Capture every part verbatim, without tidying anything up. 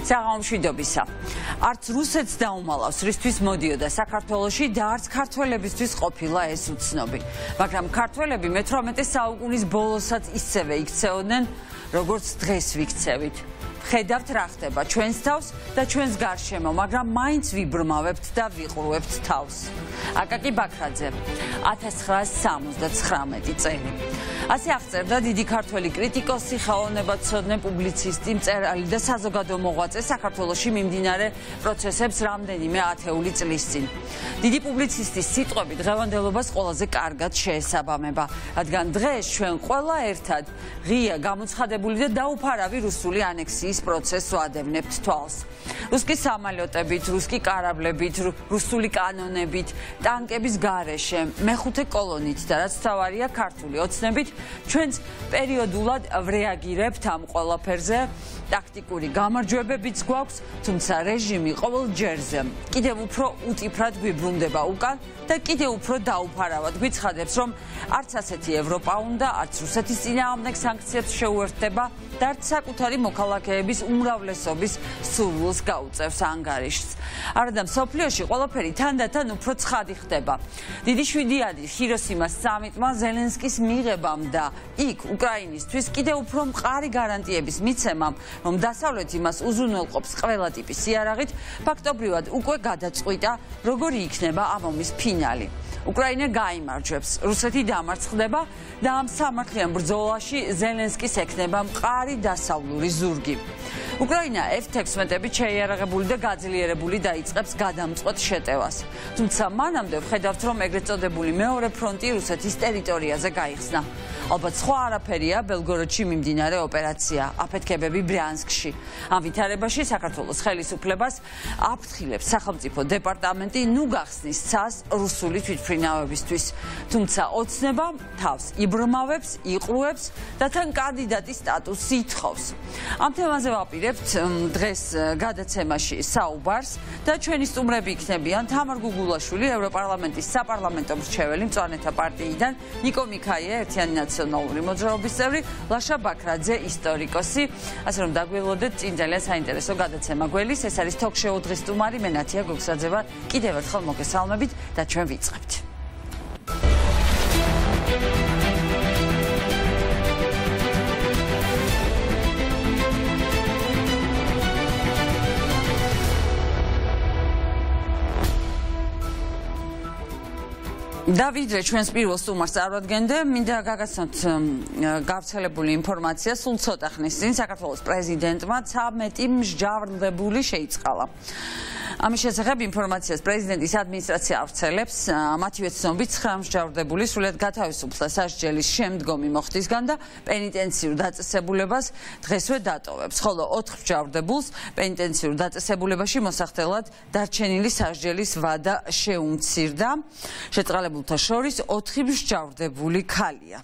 საღამომშვიდობისა. Არც რუსეთს დაუმალავს, რისთვის მოდიოდა საქართველოში და არც ქართველებისთვის ყოფილა ეს უცნობი. მაგრამ ქართველები მეთვრამეტე საუკუნის ბოლოსაც ისევე იქცეოდნენ, როგორც დღეს ვიქცევით. ხედავთ რა ხდება ჩვენს თავს და ჩვენს გარშემო, მაგრამ მაინც ვიბრმავებთ და ვიყრუებთ თავს. აკაკი ბაქრაძე, ათას ცხრაასი სამოცდათხრამეტი წელი. ასე აღწერდა დიდი ქართველი კრიტიკოსი, ხელოვნებაცოდნე, პუბლიცისტი, მწერალი და საზოგადო მოღვაწე საქართველოში მიმდინარე პროცესებს რამდენიმე ათეული წლის წინ. დიდი პუბლიცისტის სიტყვები დღევანდელობას ყველაზე კარგად შეესაბამება, რადგან დღეს ჩვენ ყველა ერთად ღია, გამოცხადებული და დაუფარავი რუსული ანექსიის პროცესს ვადევნებთ თვალს. რუსკი სამალიოტებით, რუსკი კარაბლებით, რუსული კანონებით, ტანკების გარეშე, მეხუთე კოლონით და რაც თავარია ქართული ოცნებით ჩვენც პერიოდულად ვრეაგირებთ ამ ყველაფერზე. ტაქტიკური გამარჯვებებიც გვაქვს, თუმცა რეჟიმი ყოველ ჯერზე კიდევ უფრო უტიფრად გვიბრუნდება უკან და კიდევ უფრო დაუფარავად გვიცხადებს, რომ არც ასეთი ევროპა უნდა, არც რუსეთის წინააღმდეგ სანქციებს შეუერთდება და არც საკუთარი მოქალაქეების უმრავლესობის სურვილს გაუწევს ანგარიშს. არადა მსოფლიოში ყველაფერი თანდათან უფრო ცხადი ხდება. დიდი შვიდიანი ჰიროსიმას სამიტმა ზელენსკის მიღებამ და იქ უკრაინისთვის კიდევ უფრო მყარი გარანტიების მიცემამ, რომ დასავლეთი მას უზრუნველყოფს ყველა ტიპის იარაღით, ფაქტობრივად უკვე გადაწყვიტა, როგორი იქნება ამ ომის ფინალი. უკრაინა გაიმარჯვებს, რუსეთი დამარცხდება და ამ სამართლიან ბრძოლაში ზელენსკის ექნება მყარი დასავლური ზურგი. უკრაინა ეფ თექვსმეტებით შეიარაღებული და გაძლიერებული დაიწყებს გადამწყვეტ შეტევას. თუმცა მანამდე ვხედავთ, რომ ეგრეთ წოდებული მეორე ფრონტი რუსეთის ტერიტორიაზე გაიხსნა. ალბათ სხვა არაფერია ბელგოროდში მიმდინარე ოპერაცია, აფეთქებები ბრიანსკში. ამ ვითარებაში საქართველოს ხელისუფლებას აფრთხილებს სახელმწიფო დეპარტამენტი ნუ გახსნის ცას რუსული თვითმფრინავებისთვის. თუმცა ოცნება თავს იბრმავებს, იყრუებს და თან კანდიდატის სტატუსს ითხოვს. ამ თემაზე ვაპირებთ დღეს გადაცემაში საუბარს და ჩვენი სტუმრები იქნებიან თამარ გუგულაშვილი, ევროპარლამენტის საპარლამენტო მრჩეველი მწვანეთა პარტიიდან, ნიკო მიქაია, ერთიანი ნაციონალური მოძრაობის წევრი, ლაშა ბაქრაძე, ისტორიკოსი. ასე რომ დაგველოდეთ წინ ძალიან საინტერესო გადაცემა გველის. ეს არის თოქ-შოუ დღის სტუმარი, მე ნათია გოგსაძე ვარ. კიდევ ერთხელ მოგესალმებით და ჩვენ ვიწყებთ. და ვიდრე ჩვენს პირველ სტუმარს წარვადგენდე, მინდა გაგაცნოთ გავრცელებული ინფორმაცია სულ ცოტა ხნის წინ საქართველოს პრეზიდენტმა ცამეტი მსჯავრდებული შეიწყალა. ამის შესახებ ინფორმაციას პრეზიდენტის ადმინისტრაცია ავრცელებს, მათივე ცნობით ცხრა მსჯავრდებული სრულიად გათავისუფლდა სასჯელის შემდგომი მოხდისგან და პენიტენციურ დაწესებულებას დღესვე დატოვებს, ხოლო ოთხ მსჯავრდებულს პენიტენციურ დაწესებულებაში მოსახდელად დარჩენილი სასჯელის ვადა შეუმცირდა. შეწყალებულთა შორის ოთხი მსჯავრდებული ქალია.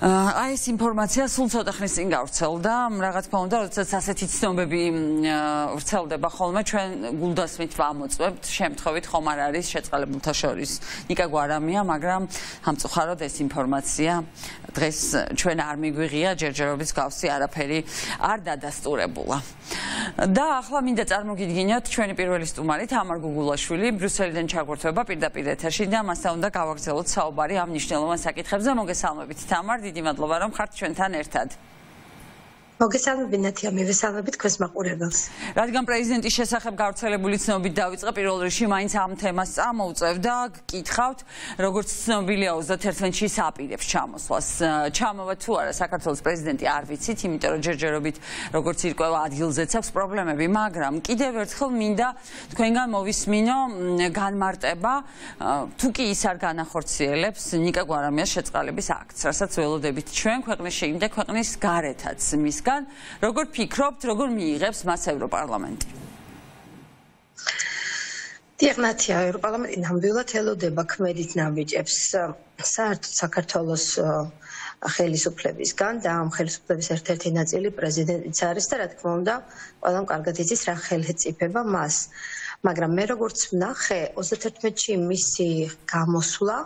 აი ეს ინფორმაცია სულ ცოტა ხნის წინ გავრცელდა, რა თქმა უნდა, როდესაც ასეთი ცნობები ვრცელდება ხოლმე, ჩვენ გულდასმით ვამოწმებთ, შემთხვევით ხომ არ არის შეწყალებულთა შორის ნიკა გვარამია, მაგრამ სამწუხაროდ ეს ინფორმაცია დღეს ჩვენ არ მიგვიღია, ჯერჯერობით გავსი არაფერი არ დადასტურებულა. და ახლა მინდა წარმოგიდგინოთ ჩვენი პირველი სტუმარი თამარ გუგულაშვილი, ბრიუსელიდან ჩაგვერთვება პირდაპირ ეთერში და მასთან უნდა გავაგრძელოთ საუბარი ამ მნიშვნელოვან საკითხებზე. მოგესალმებით თამარ, დიდი მადლობა რომ ხართ ჩვენთან ერთად. მოგესალმებით ნათია, მივესალმებით თქვენს მაყურებელს. რადგან პრეზიდენტის შესახებ გავრცელებული ცნობით დავიწყე, პირველ რიგში მაინც ამ თემას წამოვწევ და გკითხავთ, როგორც ცნობილია ოცდაათერთმეტში აპირებს ჩამოსვლას. ჩამოვა თუ არა საქართველოს პრეზიდენტი არ ვიცით, იმიტომ რომ ჯერჯერობით როგორც ირკვევა ადგილზეც აქვს პრობლემები, მაგრამ კიდევ ერთხელ მინდა თქვენგან მოვისმინო განმარტება, თუ კი ის არ განახორციელებს ნიკა გვარამიას შეწყალების აქტს, რასაც ველოდებით ჩვენ ქვეყნის შიგნით და ქვეყნის გარეთაც მის როგორ ფიქრობთ, როგორ მიიღებს მას ევროპარლამენტი? დიახ ნათია, ევროპარლამენტი ნამდვილად ელოდება ქმედით ნაბიჯებს საერთოდ საქართველოს ხელისუფლებისგან და ამ ხელისუფლების ერთ-ერთი ნაწილი პრეზიდენტიც არის და რა თქმა უნდა, ყველამ კარგად იცის რა ხელისუფლება მას. მაგრამ მე როგორც ვნახე, ოცდაათში მისი გამოსვლა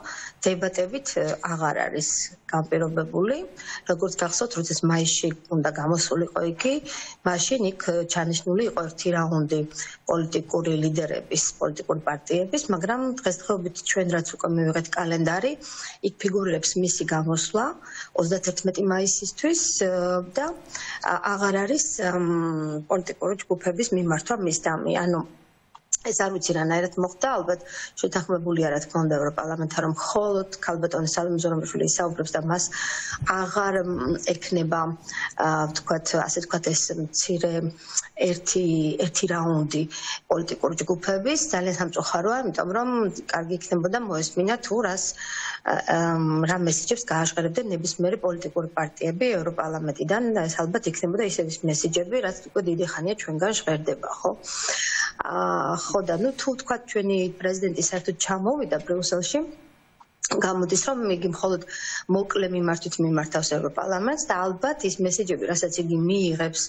დებატებით აღარ არის განპირობებული. როგორც გახსოვთ, როდესაც მაისში უნდა გამოსულიყო იგი, მაშინ იქ ჩანიშნული იყო ერთი რაუნდი პოლიტიკური ლიდერების, პოლიტიკური პარტიების, მაგრამ დღესდღეობით ჩვენ რაც უკვე მივიღეთ კალენდარი, იქ ფიგურირებს მისი გამოსვლა ოცდაათი მაისისთვის და აღარ არის პოლიტიკური ჯგუფების მიმართვა მისდამი. ანუ ეს არ ვიცი რანაირად მოხდა, ალბათ შეთანხმებული არა თქმა უნდა ევროპარლამენტთან, რომ მხოლოდ ქალბატონი სალომე ზურაბიშვილი ისაუბრებს და მას აღარ ექნება, ვთქვათ, ასე ვთქვათ, ეს მცირე ერთი ერთი რაუნდი პოლიტიკური ჯგუფების. ძალიან სამწუხაროა, იმიტომ რომ კარგი იქნებოდა მოესმინა თუ რას რა მესიჯებს გააშკარებდნენ ნებისმიერი პოლიტიკური პარტიები ევროპარლამენტიდან. ეს ალბათ იქნებოდა ისეთი მესიჯები, რაც უკვე დიდი ხანია ჩვენგან ჟღერდება, ხო? ხო და ნუ თუ თქვა ჩვენი პრეზიდენტი საერთოდ ჩამოვიდა ბრიუსელში, გამოდის რომ იგი მხოლოდ მოკლე მიმართვით მიმართავს ევროპარლამენტს და ალბათ ის მესიჯები, რასაც იგი მიიღებს,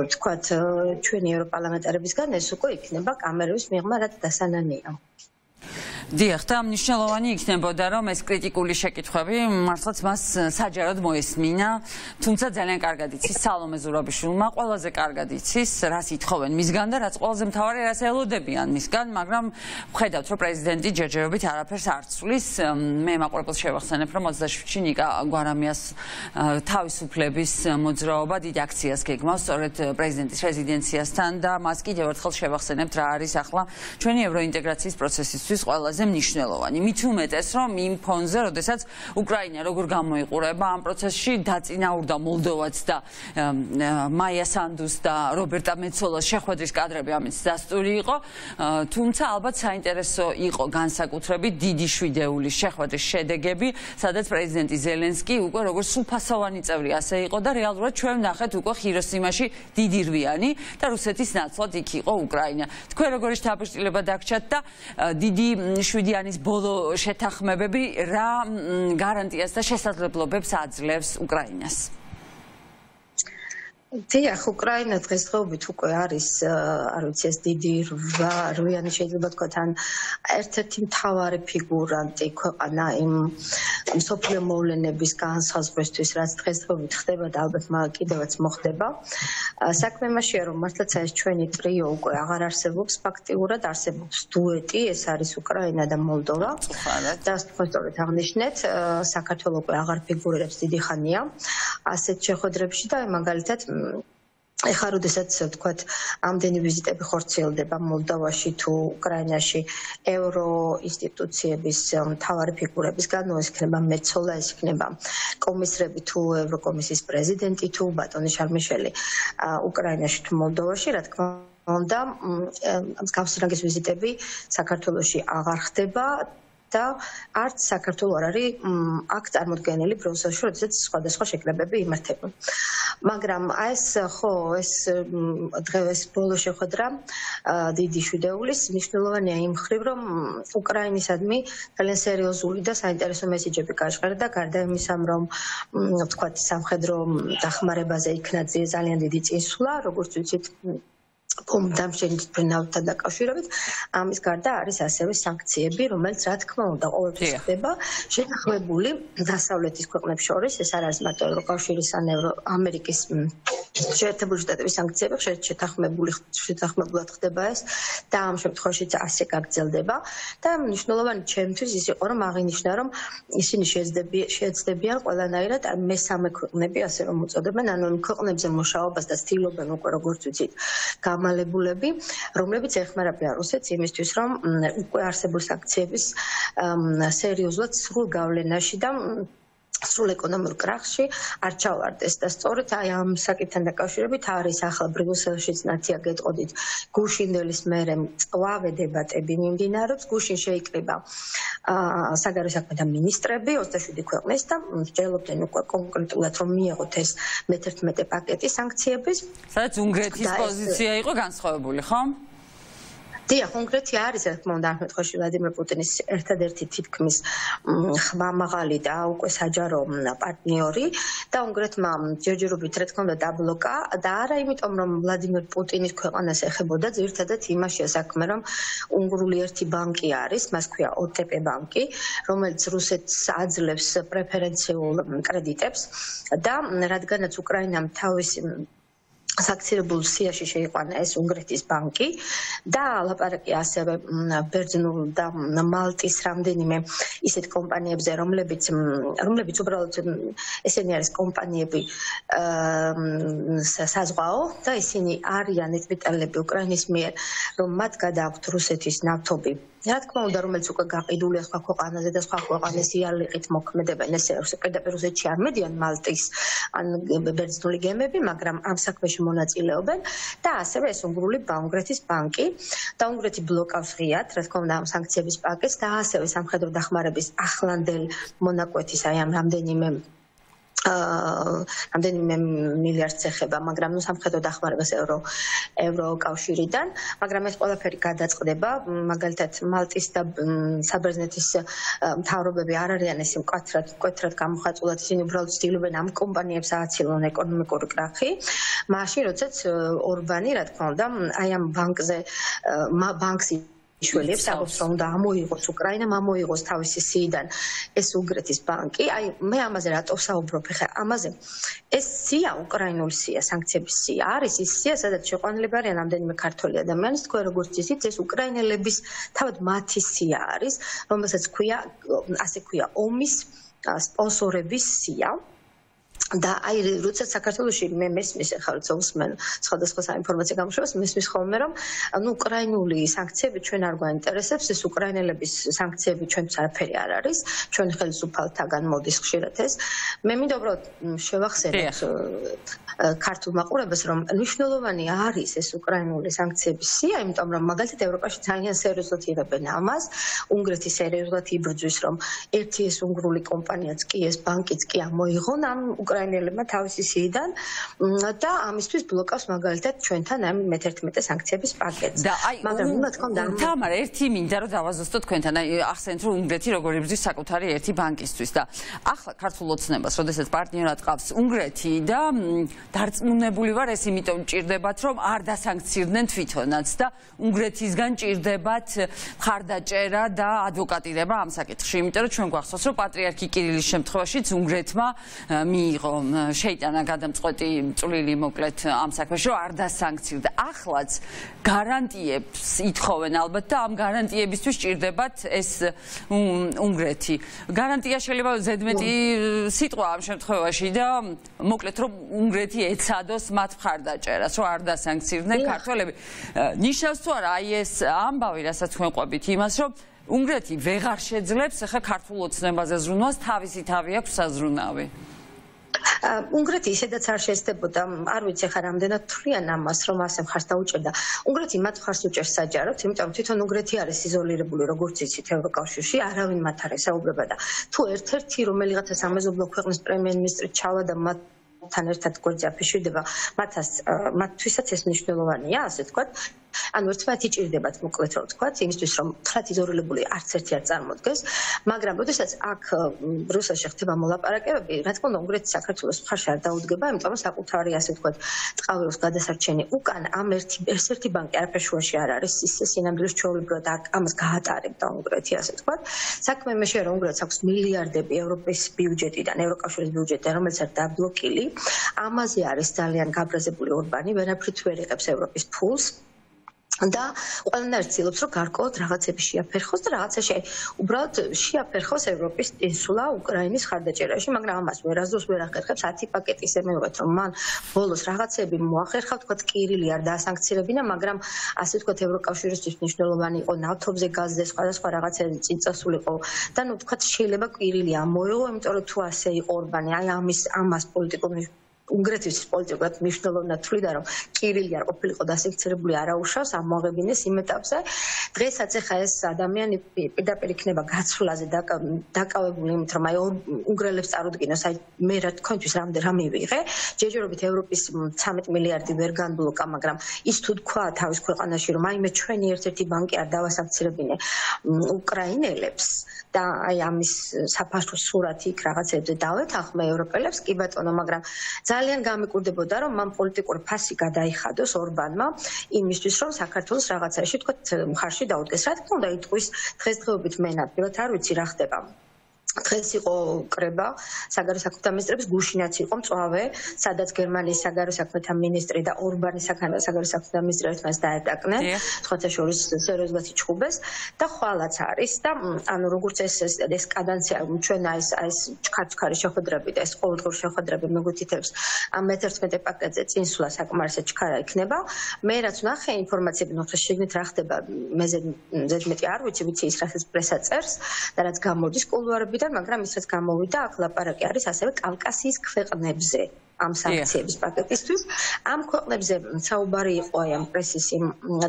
ვთქვათ, ჩვენი ევროპარლამენტარებისგან, ეს უკვე იქნება კამერების მიღმა, რაც დასანანია. დიახ, და მნიშვნელოვანი იქნებოდა, რომ ეს კრიტიკული შეკითხვები მართლაც მას საჯაროდ მოესმინა, თუმცა ძალიან კარგად იცის სალომე ზურაბიშვილმა, ყველაზე კარგად იცის, რას ითხოვენ მისგან და რაც ყველაზე მთავარი, რას ელოდებიან მისგან, მაგრამ ვხედავთ, რომ პრეზიდენტი ჯერჯერობით არაფერს არ ცვლის. მე მაყურებელს შევახსენებ, რომ ოცდაშვიდში ნიკა გვარამიას თავისუფლების მოძრაობა დიდ აქციას გეგმავს სწორედ პრეზიდენტის რეზიდენციასთან და მას კიდევ ერთხელ შევახსენებთ, რა არის ახლა ჩვენი ევროინტეგრაციის პროცესისთვის ყველაზე მნიშვნელოვანი. მით უმეტეს, რომ იმ ფონზე, როდესაც უკრაინა როგორ გამოიყურება ამ პროცესში, დაწინაურდა მოლდოვაც და მაია სანდუს და რობერტა მეცოლას შეხვედრის კადრები ამით დასტური იყო, თუმცა ალბათ საინტერესო იყო განსაკუთრებით დიდი შვიდეულის შეხვედრის შედეგები, სადაც პრეზიდენტი ზელენსკი უკვე როგორც სრულფასოვანი წევრი ასე იყო და რეალურად ჩვენ ვნახეთ უკვე ხიროსიმაში დიდი რვიანი და რუსეთის ნაცვლად იქ იყო უკრაინა. თქვენ როგორი შთაბეჭდილება დაგჭათ და დიდი შვიდიანის ბოლო შეთანხმებები რა გარანტიას და შესაძლებლობებს აძლევს უკრაინას? დიახ, უკრაინა დღესდღეობით უკვე არის, არ ვიცი, ეს დიდი რვიანი შეიძლება ვთქვათ, ან ერთ-ერთი მთავარი ფიგურანტი ქვეყანა იმ მსოფლიო მოვლენების განსაზღვრისთვის, რაც დღესდღეობით ხდება და ალბათ კიდევაც მოხდება. საქმე იმაშია, რომ მართლაც ეს ჩვენი ტრიო უკვე აღარ არსებობს, ფაქტიურად არსებობს დუეტი, ეს არის უკრაინა და მოლდოვა. და სწორედ აღნიშნეთ, საქართველო უკვე აღარ ფიგურირებს დიდი ხანია ასეთ შეხვედრებში და მაგალითად ეხლა როდესაც ვთქვათ ამდენი ვიზიტები ხორციელდება მოლდოვაში თუ უკრაინაში ევრო ინსტიტუციების მთავარი ფიგურებისგან, ეს იქნება მეცოლა, ეს იქნება კომისრები თუ ევროკომისიის პრეზიდენტი თუ ბატონი შარმიშელი უკრაინაში თუ მოლდოვაში, რა თქმა უნდა, მსგავსი რანგის ვიზიტები საქართველოში აღარ ხდება. და არც საქართველო არ არის აქ წარმოდგენილი ბრიუსელში, როდესაც სხვადასხვა შეკრებები იმართება. მაგრამ ეს ხო, ეს დღეს ბოლო შეხვედრა დიდი შვიდეულის მნიშვნელოვანია იმ მხრივ, რომ უკრაინისადმი ძალიან სერიოზული და საინტერესო მესიჯები გაჟღერდა, გარდა იმისა, რომ ვთქვათ, სამხედრო დახმარებაზე იქნა ძალიან დიდი წინსვლა, როგორც ვიცით, დამშენით ფრინავთან დაკავშირებით, ამის გარდა არის ასევე სანქციები, რომელიც რა თქმა უნდა ყოველთვის ხდება შეთანხმებული დასავლეთის ქვეყნებს შორის, ეს არ არის მარტო ევროკავშირის ან ამერიკის შეერთებული შტატების სანქციები, შეთანხმებული შეთანხმებულად ხდება ეს და ამ შემთხვევაშიც ასე გაგრძელდება და მნიშვნელოვანი ჩემთვის ის იყო, რომ აღინიშნა, რომ ისინი შეეცდებიან ყველანაირად მესამე ქვეყნები, ასე რომ უწოდებენ, ანუ იმ ქვეყნებზე მუშაობას და ცდილობენ უკვე როგორც ვიცით მალებულები, რომლებიც ეხმარებიან რუსეთს იმისთვის, რომ უკვე არსებული სანქციების სერიოზულად სრულ გავლენაში და სრულ ეკონომიკურ კრახში არ ჩავარდეს და სწორედ აი ამ საკითხთან დაკავშირებით არის ახლა ბრიუსელშიც ნათია გეტყოდით გუშინდელის მერე მწვავე დებატები მიმდინარეობს. გუშინ შეიკრიბა საგარეო საქმეთა მინისტრები ოცდაშვიდი ქვეყნის და მსჯელობდნენ უკვე კონკრეტულად რომ მიიღოთ ეს მეთერთმეტე პაკეტი სანქციების. სადაც უნგრეთის პოზიცია იყო განსხვავებული, ხო? დიახ, კონკრეტი არის, რა თქმა უნდა, ამ შემთხვევაში ვლადიმერ პუტინის ერთადერთი თითქმის ხმამაღალი და უკვე საჯარო პარტნიორი და უნგრეთმა ჯერჯერობით რა თქმა უნდა დაბლოკა და არა იმიტომ რომ ვლადიმერ პუტინის ქვეყანას ეხებოდა, ძირითადად იმაშია საქმე, რომ უნგრული ერთი ბანკი არის, მას ქვია ო ტე პე ბანკი, რომელიც რუსეთს აძლევს პრეფერენციულ კრედიტებს და რადგანაც უკრაინამ თავისი საქცილებულ სიაში შეიყვანა ეს უნგრეთის ბანკი და ლაპარაკი ასევე ბერძნულ და მალტის რამდენიმე ისეთ კომპანიებზე, რომლებიც რომლებიც უბრალოდ ესენი არის კომპანიები საზღვაო და ისინი არიან ეწვიტალები უკრაინის მიერ, რომ მათ გადააქვთ რუსეთის ნავთობი. რა თქმა უნდა, რომელიც უკვე გაყიდულია სხვა ქვეყანაზე და სხვა ქვეყანას იარლიყით მოქმედებენ, ესე პირდაპირ რუსეთში არ მედიან მალტის ან ბერძნული გემები, მაგრამ ამ საქმეში მონაწილეობენ და ასევე ეს უნგრული უნგრეთის ბანკი და უნგრეთი ბლოკავს ღიად, რა თქმა უნდა, ამ სანქციების პაკეტს და ასევე სამხედრო დახმარების ახლანდელ მონაკვეთის აი ამ რამდენიმე რამდენიმე მილიარდს ეხება, მაგრამ ნუ სამხედრო დახმარებას ევრო ევროკავშირიდან, მაგრამ ეს ყველაფერი გადაწყდება, მაგალითად მალტის და საბერძნეთის მთავრობები არ არიან ესე მკვეთრად მკვეთრად გამოხატულად, ისინი უბრალოდ ცდილობენ ამ კომპანიებს ააცილონ ეკონომიკური კრახი, მაშინ როდესაც ორბანი, რა თქმა უნდა, აი ამ ბანკზე ბანკს შველებს აღობს რომ უნდა ამოიღოს უკრაინამ ამოიღოს თავისი სიიდან ეს უნგრეთის ბანკი. აი მე ამაზე რატო ვსაუბრობ ხა ამაზე? ეს სია უკრაინული სია, სანქციების სია არის ის სია, სადაც შეყვანილები არიან რამდენიმე ქართველი ადამიანი, თქვენ როგორც იცით, ეს უკრაინელების თავად მათი სია არის, რომელსაც ქვია ასე ქვია ომის სპონსორების სია. და აი როდესაც საქართველოში მე მესმის ახლა როცა უსმენ სხვადასხვა საინფორმაციო გამოშვებას მესმის ხოლმე რომ ანუ უკრაინული სანქციები ჩვენ არ გვაინტერესებს, ეს უკრაინელების სანქციები ჩვენც არაფერი არ არის, ჩვენ ხელისუფალთაგან მოდის ხშირად ეს. მე მინდა უბრალოდ შევახსენოთ ქართულ მაყურებელს რომ მნიშვნელოვანი არის ეს უკრაინული სანქციების სია, იმიტომ რომ მაგალითად ევროპაში ძალიან სერიოზულად იღებენ ამას, უნგრეთი სერიოზულად იბრძვის რომ ერთი ეს უნგრული კომპანიაც კი ეს ბანკიც კი ამოიღონ ამ უკრაინელებმა თავისი სიიდან და ამისთვის ბლოკავს მაგალითად ჩვენთან ამ მეთერთმეტე სანქციების პაკეტს. მაგრამ რა თქმა უნდა, თამარ, ერთი მინდა რომ დავაზუსტო თქვენთან, აი ახსენეთ რომ უნგრეთი როგორ იბრძვის საკუთარი ერთი ბანკისთვის და ახლა ქართულ ოცნებას, როდესაც პარტნიორად ყავს უნგრეთი და დარწმუნებული ვარ ეს იმიტომ ჭირდებათ რომ არ დასანქცირდნენ თვითონაც და უნგრეთისგან ჭირდებათ მხარდაჭერა და ადვოკატირება ამ საკითხში, იმიტომ რომ ჩვენ გვახსოვს რომ პატრიარქი კირილის შემთხვევაშიც უნგრეთმა მიიღო შეიტანა გადამწყვეტი წვლილი მოკლედ ამ საქმეში რომ არ დასანქცირდა. ახლაც გარანტიებს ითხოვენ ალბათ და ამ გარანტიებისთვის ჭირდებათ ეს უნგრეთი. გარანტია შეიძლება ზედმეტი სიტყვა ამ შემთხვევაში და მოკლედ რომ უნგრეთი ეცადოს მათ მხარდაჭერას, რომ არ დასანქცირდნენ ქართველები. ნიშნავს თუ არა აი ეს ამბავი, რასაც თქვენ ყვებით იმას, რომ უნგრეთი ვეღარ შეძლებს ახლა ქართულ ოცნებაზე ზრუნვას, თავისი თავი აქვს საზრუნავი. უნგრეთი ისედაც არ შეესწებოდა, არ ვიცი ხა რამდენად თვლიან ამას, რომ ასე მხარს დაუჭერდა. უნგრეთი მათ მხარს უჭერს საჯაროდ, იმიტომ რომ თვითონ უნგრეთი არის იზოლირებული, როგორც იცით, ევროკავშირში, არავინ მათ არ ესაუბრება და თუ ერთ-ერთი რომელიღაცა სამეზობლო ქვეყნის პრემიერ-მინისტრი ჩავა და მათ თან ერთად გვერდზე აფიშვიდება, მათაც მათთვისაც ეს მნიშვნელოვანია, ასე ვთქვათ. ანუ ერთმანეთი ჭირდებათ, მოკლედ რომ ვთქვათ, იმისთვის რომ თხრათ იზოლირებული არც ერთი არ წარმოდგეს, მაგრამ როდესაც აქ რუსეთში ხდება მოლაპარაკებები, რა თქმა უნდა, უნგრეთი საქართველოს მხარში არ დაუდგება, იმიტომ რომ საკუთარი, ასე ვთქვათ, წყავეროს გადასარჩენი უკან ამ ერთი ეს ერთი ბანკი არაფერ შუაში არ არის, ის სინამდვილეს ჩვეულებრივად ამას გაატარებდა უნგრეთი, ასე ვთქვათ. საქმე იმაშია, რომ უნგრეთს აქვს მილიარდები ევროპის ბიუჯეტიდან, ევროკავშირის ბიუჯეტიდან, რომელიც არის დაბლოკილი. ამაზე არის ძალიან გაბრაზებული ორბანი, ვერაფრით ვერ იღებს ევროპის ფულს. და ყველანაირ ცდილობს რომ გარკვეულად რაღაცები შეაფერხოს და რაღაცაში უბრალოდ შეაფერხოს ევროპის ინსულა უკრაინის ხარდაჭერაში, მაგრამ ამას ვერასდროს ვერ ახერხებს ათი პაკეტი ისე მივიღეთ რომ მან ბოლოს რაღაცები მოახერხა, თქვათ კირილი არ დაასანქცირებინა, მაგრამ ასე ვთქვათ ევროკავშირისთვის მნიშვნელოვანი იყო ნავთობზე, გაზზე, სხვადასხვა რაღაცები წინ წასულიყო და ნუ თქვათ შეიძლება კირილი ამოიღო, იმიტომ რომ თუ ასე იყო ორბანი, აი ამის ამას პოლიტიკურ უნგრეთის პოლიტიკურად მნიშვნელოვნად თვლიდა, რომ კირილი არ ყოფილიყო დასექცირებული, არაუშავს, ამოაღებინეს იმ ეტაპზე. დღესაც ეხა ეს ადამიანი პირდაპირ იქნება გაცვლაზე დაკავებული იმით, რომ აი უნგრელებს წარუდგინოს, აი მე რა თქვენთვის რამდენ რა მივიღე. ჯერჯერობით ევროპის ცამეტ მილიარდი ვერ განბლოკა, მაგრამ ის თუ თქვა თავის ქვეყანაში, რომ აი მე ჩვენი ერთ-ერთი ბანკი არ დავასანქცირებინე უკრაინელებს და აი ამის საფასურო სურათი იქ რაღაცებზე დავეთანხმე ევროპელებს, კი ბატონო, მაგრამ ძალიან გამიკვირდებოდა, რომ მან პოლიტიკური ფასი გადაიხადოს ორბანმა იმისთვის, რომ საქართველოს რაღაცაში თქვა მხარში დაუდგეს. რა თქმა უნდა, იტყვის დღესდღეობით მე ნამდვილად არ ვიცი რა ხდება. დღეს იყო კრება საგარეო საქმეთა მინისტრების გუშინაც იყო მწვავე, სადაც გერმანიის საგარეო საქმეთა მინისტრი და ორბანის საგარეო საქმეთა მინისტრი ერთმანეთს დაეტაკნენ, სხვათა შორის სერიოზულად იჩხუბეს და ხვალაც არის და ანუ როგორც ეს ეს კადანცია ჩვენ აი ეს ჩქარჩქარი შეხვედრები და ეს ყოველდღიური შეხვედრები მეგვითითებს ამ მეთერთმეტე პაკეტზე წინსვლა საკმარისად ჩქარა იქნება. მე რაც ვნახე ინფორმაციები, ნუ შეგნით რა ხდება, მე ზედმეტი არ ვიცი, ვიცი ის რასაც პრესა წერს და რაც გამოდის კულუარები, მაგრამ ის რაც გამოვიდა, აქ ლაპარაკი არის ასევე კავკასიის ქვეყნებზე ამ სანქციების პაკეტისთვის. ამ ქვეყნებზე საუბარი იყო აი ამ პრესის იმ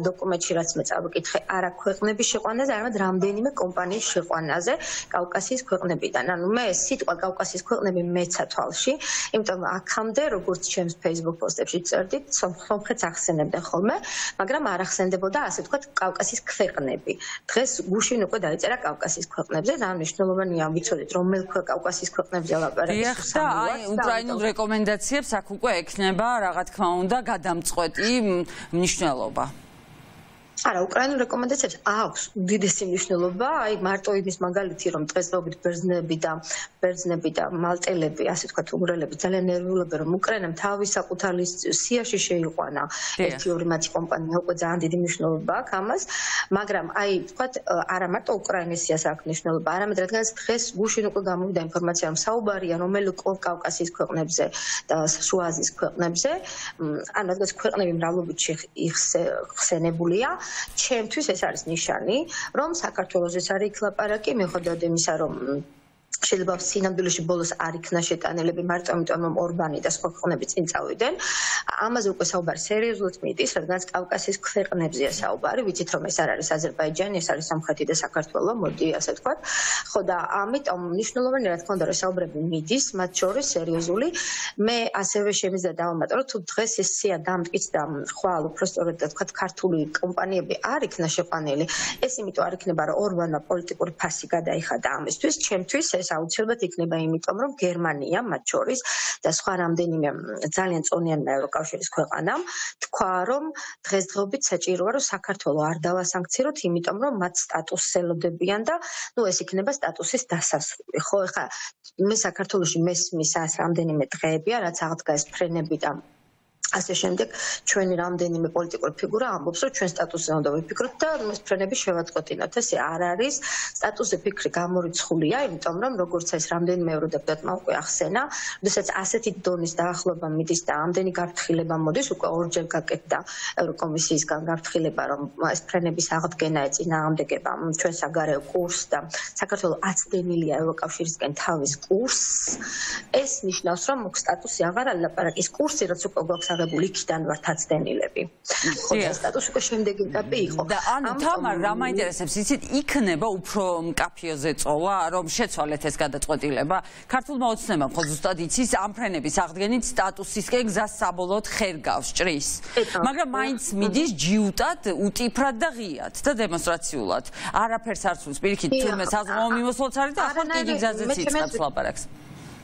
დოკუმენტში, რაც მე წავიკითხე, არა ქვეყნების შეყვანაზე, არამედ რამდენიმე კომპანიის შეყვანაზე კავკასიის ქვეყნებიდან. ანუ მე სიტყვა კავკასიის ქვეყნები მეცა თვალში, იმიტომ რომ აქამდე, როგორც ჩემს Facebook პოსტებში წერდით, სომხეთს ახსენებდნენ ხოლმე, მაგრამ არ ახსენდებოდა ასე ვთქვათ კავკასიის ქვეყნები. დღეს გუშინ უკვე დაიწერა კავკასიის ქვეყნებზე და მნიშვნელოვანია ვიცოდეთ, რომელ კავკასიის ქვეყნებზე ლაპარაკი. და აი უკრაინულ რეკომენდაციებს აქ უკვე ექნება რა თქმა უნდა გადამწყვეტი მნიშვნელობა. არა, უკრაინულ რეკომენდაციებს აქვს უდიდესი მნიშვნელობა, აი მარტო იმის მაგალითი, რომ დღესდღეობით ბერძნები და ბერძნები და მალტელები, ასე ვთქვათ, უნგრელები ძალიან ნერვიულებენ, რომ უკრაინამ თავის საკუთარი სიაში შეიყვანა ერთი ორი მათი კომპანია, უკვე ძალიან დიდი მნიშვნელობა აქვს ამას, მაგრამ აი ვთქვათ, არა მარტო უკრაინის სიას აქვს მნიშვნელობა, არამედ რადგანაც დღეს გუშინ უკვე გამოვიდა ინფორმაცია, რომ საუბარია რომელი კავკასიის ქვეყნებზე და შუა აზიის ქვეყნებზე, ან რადგანაც ქვეყნები მრავლობით ხსენებულია. ჩემთვის ეს არის ნიშანი, რომ საქართველოსაც არის იქ ლაპარაკი, მიუხედავად იმისა, რომ შეიძლება სინამდვილეში ბოლოს არ იქნა შეტანილები მარტო იმიტომ, რომ ორბანი და სხვა ქვეყნები წინ წავიდნენ. ამაზე უკვე საუბარი სერიოზულად მიდის, რადგანაც კავკასიის ქვეყნებზეა საუბარი. ვიცით, რომ ეს არ არის აზერბაიჯანი, ეს არის სომხეთი და საქართველო, მოდი ასე ვთქვათ. ხო და ამიტომ მნიშვნელოვანია, რა თქმა უნდა, რომ საუბრები მიდის, მათ შორის სერიოზული. მე ასევე შემიძლია დავამატო, რომ თუ დღეს ეს სია დამტკიცდა ხვალ უბრალოდ ვთქვათ, ქართული კომპანიები არ იქნა შეყვანილი. ეს იმიტომ არ იქნება, რომ ორბანმა პოლიტიკური ფასი გადაიხადა ამისთვის, ჩემთვის ეს აუცილებლად იქნება იმიტომ, რომ გერმანია მათ შორის და სხვა რამდენიმე ძალიან წონიანმა ევროკავშირის ქვეყანამ თქვა, რომ დღესდღეობით საჭიროა, რომ საქართველო არ დავასანქციროთ, იმიტომ რომ მათ სტატუსს ელოდებიან და ნუ ეს იქნება სტატუსის დასასრული. ხო, ეხლა მე საქართველოში მესმის ას რამდენიმე დღეებია, რაც აღდგა ეს ფრენები და ასე შემდეგ ჩვენი რამდენიმე პოლიტიკური ფიგურა ამბობს, რომ ჩვენ სტატუსზე უნდა ვიფიქროთ და ეს ფრენები შევაწყვეტინოთ. ესე არ არის. სტატუსზე ფიქრი გამორიცხულია, იმიტომ რომ როგორც ეს რამდენიმე ევროდეპუტატმა უკვე ახსენა, როდესაც ასეთი დონის დაახლოება მიდის და ამდენი გაფრთხილება მოდის, უკვე ორჯერ გაკეთდა ევროკომისიისგან გაფრთხილება, რომ ეს ფრენების აღდგენა ეწინააღმდეგება ჩვენ საგარეო კურსს და საქართველოს აცდენილია ევროკავშირისგან თავის კურსს. ეს ნიშნავს, რომ სტატუსი აღარ არის ლაპარაკის კურსი, რაც უკვე გვაქვს იქიდან ვართ აცდენილები. ხო, ეს სტატუსი უკვე შემდეგი ეტაპი იყო. და ანუ თამარ, რა მაინტერესებს, იცით, იქნება უფრო მკაფიო ზეწოლა, რომ შეცვალეთ ეს გადაწყვეტილება. ქართულმა ოცნებამ ხო ზუსტად იცის, ამ ფრენების აღდგენით სტატუსისკენ გზას საბოლოოდ ხერ გავს, ჭრის. მაგრამ მაინც მიდის ჯიუტად, უტიფრად და ღიად და დემონსტრაციულად. არაფერს არ სულს, პირიქით, თურმე საზღვაო მიმოსვლაც არის და ახლა დიდი გზაზეც იწყებს ლაპარაკს.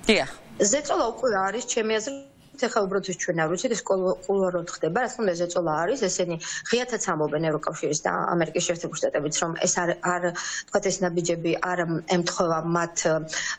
დიახ. ზეწოლა უკვე არის, ჩემი აზრით. ეხლა უბრალოდ ჩვენ არ ვიცით, ეს კულუარულად ხდება, რა თქმა უნდა ზეწოლა არის, ესენი ღიათაც ამბობენ ევროკავშირის და ამერიკის შეერთებული შტატებიც, რომ ეს არ არ თქვათ ეს ნაბიჯები არ ემთხვევა მათ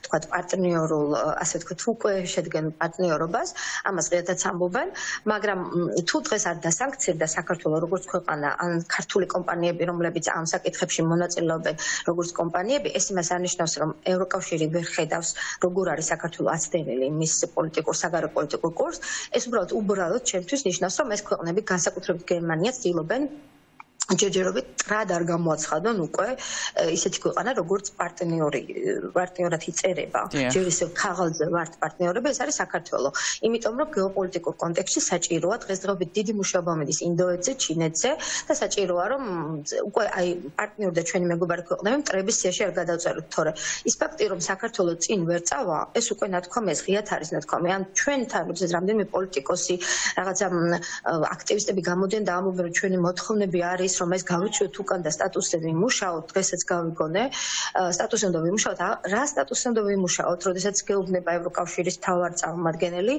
თქვათ პარტნიორულ, ასე ვთქვათ, უკვე შედგენ პარტნიორობას, ამას ღიათაც ამბობენ, მაგრამ თუ დღეს არ დასანქცირდა საქართველოს როგორც ქვეყანა, ან ქართული კომპანიები, რომლებიც ამ საკითხებში მონაწილეობენ, როგორც კომპანიები, ეს იმას არნიშნავს, რომ ევროკავშირი ვერ ხედავს, როგორ არის საქართველოს აცდენილი მის პოლიტიკურ საგარეო პოლიტიკურ ეს უბრალოდ უბრალოდ ჩემთვის ნიშნავს, რომ ეს ქვეყნები განსაკუთრებით გერმანია ცდილობენ ჯერჯერობით ტრად არ გამოაცხადონ უკვე ისეთი ქვეყანა როგორც პარტნიორი პარტნიორად იწერება ჯერ ისევ ქაღალდზე ვართ პარტნიორები ეს არის საქართველო იმიტომ რომ გეოპოლიტიკურ კონტექსტში საჭიროა დღესდღეობით დიდი მუშაობა მიდის ინდოეთზე ჩინეთზე და საჭიროა რომ უკვე აი პარტნიორი და ჩვენი მეგობარი ქვეყნები მტრების სიაში არ გადავწეროთ თორე ის ფაქტი რომ საქართველო წინ ვერ წავა ეს უკვე ნათქვამია ღიათ არის ნათქვამი ან ჩვენთან როდესაც რამდენიმე პოლიტიკოსი რაღაცა აქტივისტები გამოდიან და ამბობენ რომ ჩვენი მოთხოვნები არის რომ ეს გავიჩვიოთ უკან და სტატუსზე ვიმუშაოთ, დღესაც გავიგონე, სტატუსზე უნდა ვიმუშაოთ, რა სტატუსზე უნდა ვიმუშაოთ, როდესაც გეუბნება ევროკავშირის მთავარი წარმომადგენელი,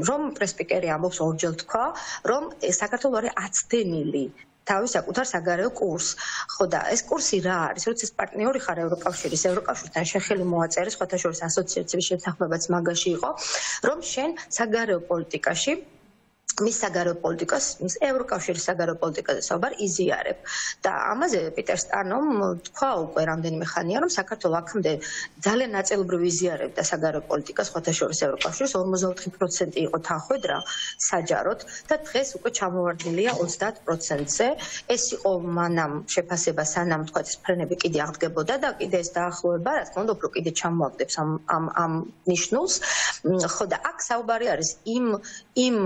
რომ პრესპიკერი ამბობს ორჯერ თქვა, რომ საქართველო არის აცდენილი თავის საკუთარ საგარეო კურსს. ხო და ეს კურსი რა არის? როდესაც პარტნიორი ხარ ევროკავშირის, ევროკავშირთან შეხელი მოაწერეს, სხვათა შორის ასოციაციების შეთანხმებაც მაგაში იყო, რომ შენ საგარეო პოლიტიკაში მის საგარეო პოლიტიკას, მის ევროკავშირის საგარეო პოლიტიკაზე საუბარ იზიარებ. და ამაზე პიტერ სტანომ თქვა უკვე რამდენიმე ხანია, რომ საქართველო აქამდე ძალიან ნაწილობრივ იზიარებდა საგარეო პოლიტიკას, სხვათა შორის ევროკავშირის ორმოცდაოთხი პროცენტი იყო თანხwebdriver საჯაროდ და დღეს უკვე ჩამოვარდნილია ოცდაათ პროცენტზე. ეს იყო მანამ შეფასება, სანამ თქვა ეს ფრენები კიდე აღდგებოდა და კიდე ეს დაახლოება, რა თქმა უნდა, უფრო კიდე ჩამოაგდებს ამ ამ ამ ნიშნულს. ხო და აქ საუბარი არის იმ იმ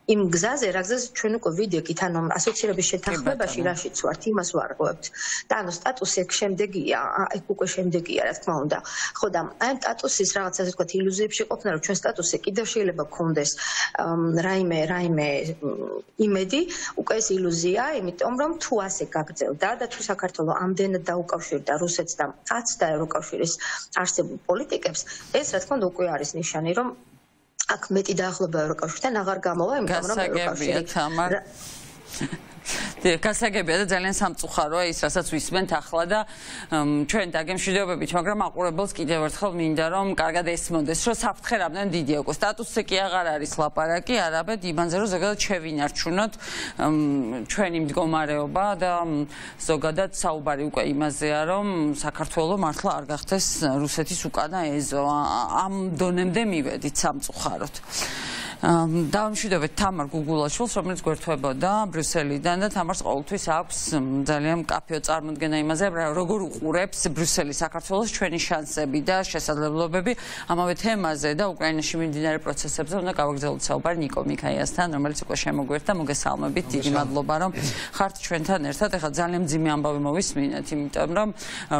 იმ გზაზე, რა გზაზე ჩვენ უკვე ვიდექით, ანუ ასოცირების შეთანხმებაში რაშიც ვართ, იმას ვარღვევთ. და ანუ სტატუსი ეგ შემდეგია, ეგ უკვე შემდეგია, რა თქმა უნდა. ხო და აი სტატუსის რაღაც ასე ვთქვათ, ილუზიებში ყოფნა, რომ ჩვენ სტატუსზე კიდევ შეიძლება გქონდეს რაიმე, რაიმე იმედი, უკვე ეს ილუზია, იმიტომ რომ თუ ასე გაგრძელდა და თუ საქართველო ამდენად დაუკავშირდა რუსეთს და კაც და ევროკავშირის არსებულ პოლიტიკებს, ეს რა თქმა უნდა უკვე არის ნიშანი, რომ აქ მეტი დაახლოება ევროკავშირთან აღარ გამოვა, იმიტომ რომ ევროკავშირი გასაგებია და ძალიან სამწუხაროა ის, რასაც ვისმენთ ახლა და ჩვენ დაგემშვიდობებით, მაგრამ აყურებელს კიდევ ერთხელ მინდა რომ კარგად ესმოდეს, რომ საფრთხე რამდენ დიდი აქვს. სტატუსზე კი აღარ არის ლაპარაკი, არამედ იმანზე, რომ ზოგადად შევინარჩუნოთ ჩვენი მდგომარეობა და ზოგადად საუბარი უკვე იმაზეა, რომ საქართველო მართლა არ გახდეს რუსეთის უკანა ეზო. ამ დონემდე მივედით სამწუხაროდ. დავამშვიდობეთ თამარ გუგულაშვილს, რომელიც გვერდთვებოდა ბრიუსელიდან და თამარს ყოველთვის აქვს ძალიან მკაფიო წარმოდგენა იმაზე, როგორ უყურებს ბრიუსელი საქართველოს ჩვენი შანსები და შესაძლებლობები ამავე თემაზე და უკრაინაში მიმდინარე პროცესებზე უნდა გავაგრძელოთ საუბარი ნიკო მიქაიასთან, რომელიც უკვე შემოგვერთა. მოგესალმებით, დიდი მადლობა რომ ხართ ჩვენთან ერთად. ეხლა ძალიან მძიმე ამბავი მოვისმინეთ, იმიტომ რომ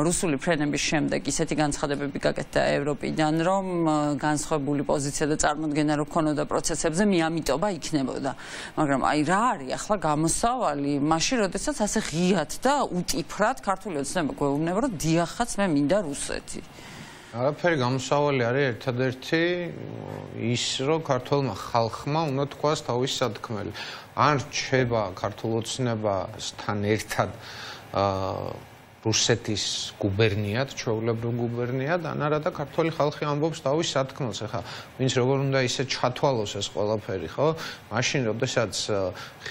რუსული ფრენების შემდეგ ისეთი განცხადებები გაკეთდა ევროპიდან, რომ განსხვავებული პოზიცია და წარმოდგენა რო ქონოდა პროცესებზე მიამიტობა იქნებოდა. მაგრამ აი რა არის ახლა გამოსავალი, მაშინ როდესაც ასე ღიად და უტიფრად ქართული ოცნება გვეუბნება, რომ დიახაც მე მინდა რუსეთი. არაფერი გამოსავალი არის ერთადერთი ის, რომ ქართულმა ხალხმა უნდა თქვას თავისი სათქმელი. ან რჩება ქართულ ოცნებასთან ერთად რუსეთის გუბერნიად, ჩვეულებრივ გუბერნიად, ან არა და ქართული ხალხი ამბობს თავის სათქმელს. ახლა ვინც როგორ უნდა ისე ჩათვალოს ეს ყველაფერი, ხო? მაშინ, როდესაც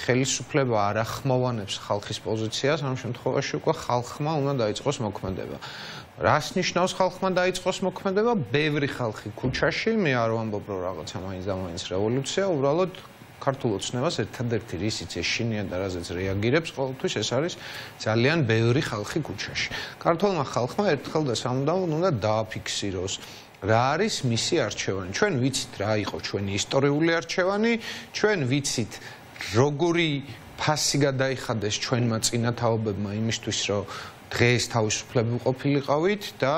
ხელისუფლება არ ახმოვანებს ხალხის პოზიციას, ამ შემთხვევაში უკვე ხალხმა უნდა დაიწყოს მოქმედება. რას ნიშნავს ხალხმა დაიწყოს მოქმედება? ბევრი ხალხი ქუჩაში, მე არ ვამბობ რომ რაღაცა მაინც და მაინც რევოლუცია, უბრალოდ ქართულ ოცნებას ერთადერთი რისიც ეშინია და რაზეც რეაგირებს ყოველთვის ეს არის ძალიან ბევრი ხალხი ქუჩაში. ქართულმა ხალხმა ერთხელ და სამუდამოდ უნდა დააფიქსიროს რა არის მისი არჩევანი. ჩვენ ვიცით რა იყო ჩვენი ისტორიული არჩევანი, ჩვენ ვიცით როგორი ფასი გადაიხადეს ჩვენმა წინათაობებმა იმისთვის, რომ დღეს თავისუფლები ყოფილიყავით და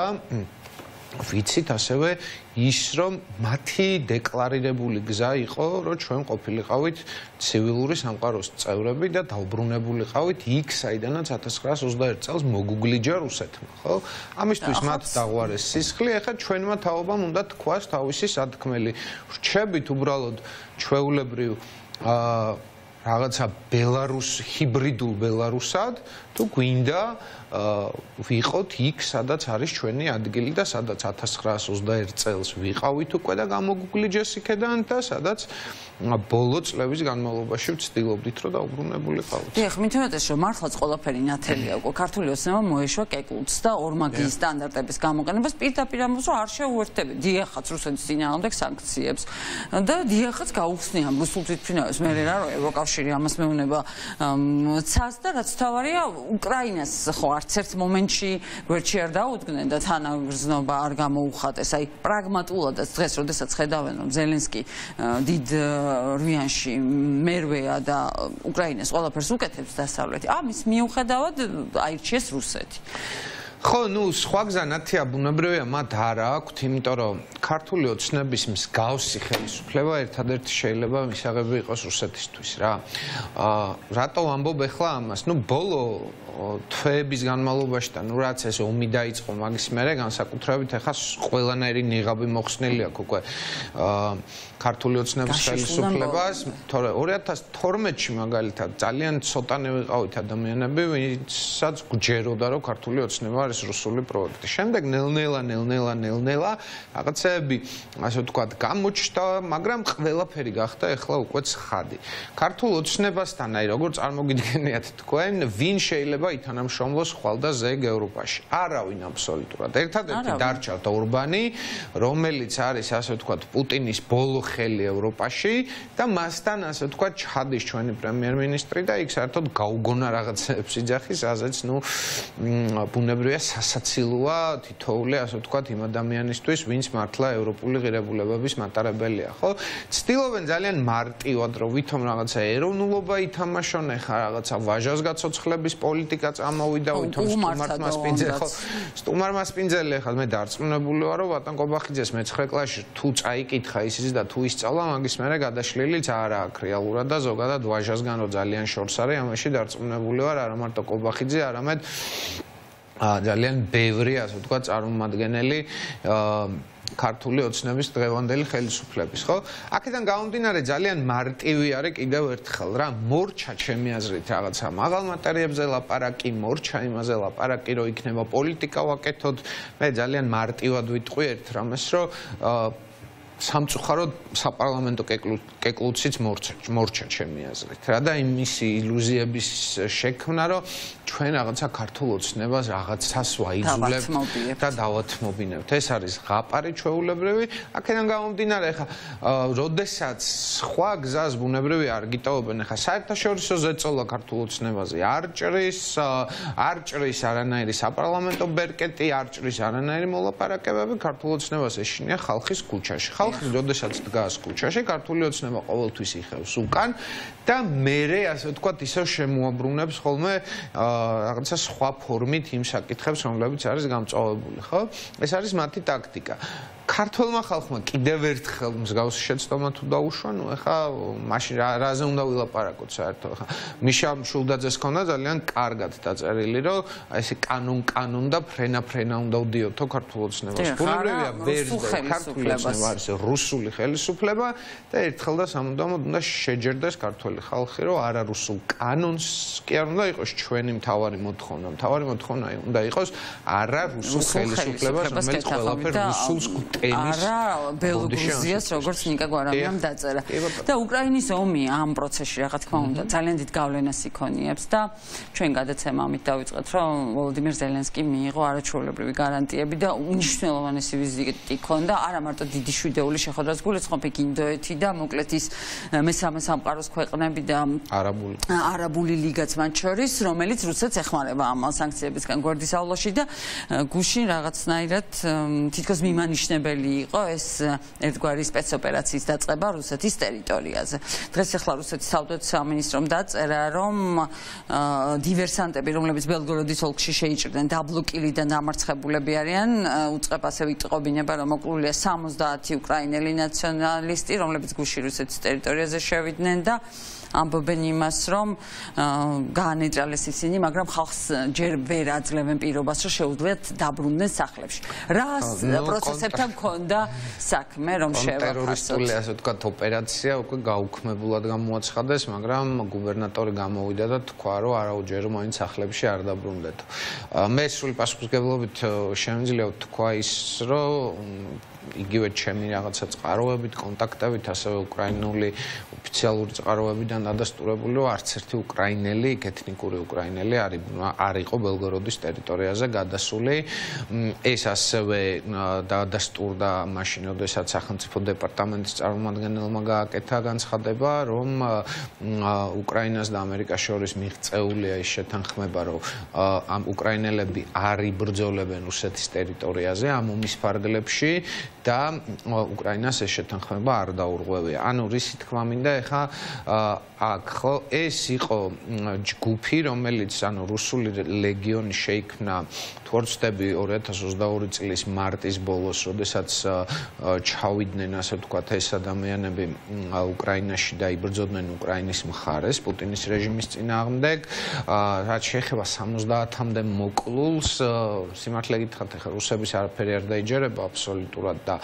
ვიცით ასევე ის, რომ მათი დეკლარირებული გზა იყო, რომ ჩვენ ყოფილიყავით ცივილური სამყაროს წევრები და დაუბრუნებულიყავით იქ, საიდანაც ათას ცხრაას ოცდაერთი წელს მოგუგლიჯა რუსეთმა, ხო? ამისთვის მათ დაღვარეს სისხლი, ეხლა ჩვენმა თაობამ უნდა თქვას თავისი სათქმელი. რჩებით უბრალოდ ჩვეულებრივ აა რაღაცა ბელარუს ჰიბრიდულ ბელარუსად თუ გვინდა ვიყოთ იქ, სადაც არის ჩვენი ადგილი და სადაც ათას ცხრაას ოცდაერთი წელს ვიყავით უკვე და გამოგუგლიჯეს იქედან და სადაც ბოლო წლების განმავლობაში ვცდილობდით, რომ დაუბრუნებულიყავით. დიახ, მithumetes რომ მართლაც ყველაფერი ნათელია უკვე ქართული ოცნება მოეშვა კეკლუცს და ორმაგიის სტანდარტების გამოყენებას პირდაპირ ამბობს, რომ არ შეუერთებენ დიახაც რუსეთის წინააღმდეგ სანქციებს და დიახაც გაუხსნია რუსულ თვითმფრინავებს მე რა რომ ევროკავშირი კავშირი ამას მეუბნება ცას და რაც თავარია უკრაინას ხო არც ერთ მომენტში გვერდში არ დაუდგნენ და თანაგრძნობა არ გამოუხატეს. აი პრაგმატულადაც დღეს როდესაც ხედავენ რომ ზელენსკი დიდ რვიანში მერვეა და უკრაინას ყველაფერს უკეთებს დასავლეთი. ამის მიუხედავად აირჩიეს რუსეთი. ხო, ну, სხვა გზა ნათია ბუნებრივია მათ არ აქვთ, იმიტომ რომ ქართული ოცნების მსგავსი ხელისუფლება ერთადერთი შეიძლება მისაღები იყოს რუსეთისთვის რა. აა რატო ვამბობ ახლა ამას? ну, ბოლო თვეების განმავლობაში და ну, რაც ეს ომი დაიწყო მაგის მერე განსაკუთრებით ახლა ყველანაირი ნიღაბი მოხსნილი აქვს უკვე აა ქართული ოცნების ხელისუფლებას, თორე ორი ათას თორმეტში მაგალითად ძალიან ცოტანე ვიყავით ადამიანები, ვისაც გჯეროდა რომ ქართული ოცნება არის რუსული პროექტი. შემდეგ ნელ-ნელა, ნელ-ნელა, ნელ-ნელა რაღაცეები, ასე ვთქვათ, გამოჩნდა, მაგრამ ყველაფერი გახდა ახლა უკვე ცხადი. ქართულ ოცნებასთან, აი როგორ წარმოგიდგენიათ თქვენ, ვინ შეიძლება ითანამშრომლოს ხვალ და ზეგ ევროპაში? არავინ აბსოლუტურად. ერთადერთი დარჩა ორბანი, რომელიც არის ასე ვთქვათ პუტინის ბოლო ხელი ევროპაში და მასთან ასე ვთქვათ ჩადის ჩვენი პრემიერ-მინისტრი და იქ საერთოდ გაუგონა რაღაცებს იძახის, ასეც ნუ ბუნებრივია სასაცილოა თითოეული ასე ვთქვათ იმ ადამიანისთვის, ვინც მართლა ევროპული ღირებულებების მატარებელია, ხო? ცდილობენ ძალიან მარტივად რომ ვითომ რაღაცა ეროვნულობა ითამაშონ, ეხა რაღაცა ვაჟას გაცოცხლების პოლიტიკა წამოვიდა, ვითომ სტუმართმა სპინძელი, ხო? სტუმარმა სპინძელი ეხლა მე დარწმუნებული ვარ რომ ბატონ კობახიძეს მეცხრე კლასში თუ წაიკითხა ისიც და თუ ისწავლა მაგის მერე გადაშლილიც არ აქვს რეალურად და ზოგადად ვაჟასგან რო ძალიან შორს არის, ამაში დარწმუნებული ვარ არა მარტო კობახიძე, არამედ ძალიან ბევრი ასე ვთქვათ წარმომადგენელი ქართული ოცნების დღევანდელი ხელისუფლების, ხო? აქედან გამომდინარე ძალიან მარტივი არის კიდევ ერთხელ რა, მორჩა ჩემი აზრით რაღაცა მაღალ მატერიებზე ლაპარაკი, მორჩა იმაზე ლაპარაკი, რომ იქნება პოლიტიკა ვაკეთოთ. მე ძალიან მარტივად ვიტყვი ერთ რამეს, რომ სამწუხაროდ საპარლამენტო კეკლუციც მორჩა ჩემი აზრით რა და იმისი ილუზიების შექმნა რომ ჩვენ რაღაცა ქართულ ოცნებას რაღაცას ვაიძულებთ და დავათმობინებთ. ეს არის ღაპარი ჩვეულებრივი. აქედან გამომდინარე ხა როდესაც სხვა გზას ბუნებრივი არ გიტოვებენ ხა საერთაშორისო ზეწოლა ქართულ ოცნებაზე არ ჭრის არ ჭრის არანაირი საპარლამენტო ბერკეტი არ ჭრის არანაირი მოლაპარაკებები ქართულ ოცნებას ეშინია ხალხის ქუჩაში. ხალხი როდესაც დგას ქუჩაში ქართული ოცნება ყოველთვის იხევს უკან და მერე ასე ვთქვათ ისევ შემოაბრუნებს ხოლმე რაღაცა სხვა ფორმით იმ საკითხებს რომლებიც არის გამწვავებული, ხო? ეს არის მათი ტაქტიკა. ქართველმა ხალხმა კიდევ ერთხელ მსგავსი შეცდომა თუ დაუშვა, ნუ ეხა მაშინ რაზე უნდა ვილაპარაკოთ საერთოდ ხა. მიშა მშულდაძეს ქონდა ძალიან კარგად დაწერილი, რომ ესე კანონ კანონ და ფრენა ფრენა უნდა ვდიოთო ქართულ ოცნებას. ბუნებრივია ვერზე ქართული ოცნება არის რუსული ხელისუფლება და ერთხელ და სამუდამოდ უნდა შეჯერდეს ქართველი ხალხი, რომ არა რუსულ კანონს კი არ უნდა იყოს ჩვენი მთავარი მოთხოვნა. მთავარი მოთხოვნა უნდა იყოს არა რუსულ ხელისუფლებას, რომელიც ყველაფერ რუსულს არა ბელორუსიას როგორც ნიკა გვარამიამ დაწერა და უკრაინის ომი ამ პროცესში რა თქმა უნდა ძალიან დიდ გავლენას იქონიებს და ჩვენ გადაცემა ამით დავიწყეთ რომ ვოლოდიმირ ზელენსკი მიიღო არაჩვეულებრივი გარანტიები და უნიშნელოვანესი ვიზიტი ჰქონდა არა მარტო დიდი შვიდეული შეხვედრას გულისხმობ იქ ინდოეთი და მოკლედ ის მესამე სამყაროს ქვეყნები და არაბული არაბული ლიგაც მათ შორის რომელიც რუსეთს ეხმარება ამ სანქციებისგან გვერდის აულოში და გუშინ რაღაცნაირად თითქოს მიმანიშნებელი იყო ეს ერთგვარი სპეცოპერაციის დაწყება რუსეთის ტერიტორიაზე. დღეს ახლა რუსეთის საავტო სამინისტრომ დაწერა, რომ დივერსანტები, რომლებიც ბელგოროდის ოლქში შეიჭრდნენ, დაბლოკილი და დამარცხებულები არიან, უწყებ ასევე იტყობინება, რომ მოკლულია სამოცდაათი უკრაინელი ნაციონალისტი, რომლებიც გუშინ რუსეთის ტერიტორიაზე შევიდნენ და ამბობენ იმას, რომ გაანეჭალეს ისინი, მაგრამ ხალხს ჯერ ვერ აძლევენ პირობას, რომ შეუძლიათ დაბრუნდნენ სახლებში. რა პროცესებთან მქონდა საქმე, რომ შევახსოვთ? ტერორისტული ასე ვთქვათ ოპერაცია უკვე გაუქმებულად გამოაცხადეს, მაგრამ გუბერნატორი გამოვიდა და თქვა, რომ არაუჯერო მაინც სახლებში არ დაბრუნდეთ. მე სრული პასუხისმგებლობით შემიძლია ვთქვა ის, რომ იგივე ჩემი რაღაცა წყაროებით, კონტაქტებით, ასევე უკრაინული ოფიციალური წყაროებიდან დადასტურებული, რომ არც ერთი უკრაინელი, ეთნიკური უკრაინელი არ იყო ბელგოროდის ტერიტორიაზე გადასული. ეს ასევე დადასტურდა მაშინ, როდესაც სახელმწიფო დეპარტამენტის წარმომადგენელმა გააკეთა განცხადება, რომ უკრაინას და ამერიკას შორის მიღწეულია ის შეთანხმება, რომ ამ უკრაინელები არ იბრძოლებენ რუსეთის ტერიტორიაზე ამ ომის ფარგლებში და უკრაინას ეს შეთანხმება არ დაურღვევია. ანუ რისი თქმა მინდა, ეხა აქ ხო ეს იყო ჯგუფი, რომელიც ანუ რუსული ლეგიონი შეიქმნა თუ არ ვცდები ორი ათას ოცდაორი წლის მარტის ბოლოს, როდესაც ჩავიდნენ, ასე ვთქვათ, ეს ადამიანები უკრაინაში და იბრძოდნენ უკრაინის მხარეს პუტინის რეჟიმის წინააღმდეგ. რაც შეეხება სამოცდაათამდე მოკლულს, სიმართლე გითხრათ, ეხლა რუსების არაფერი არ დაიჯერება აბსოლუტურად და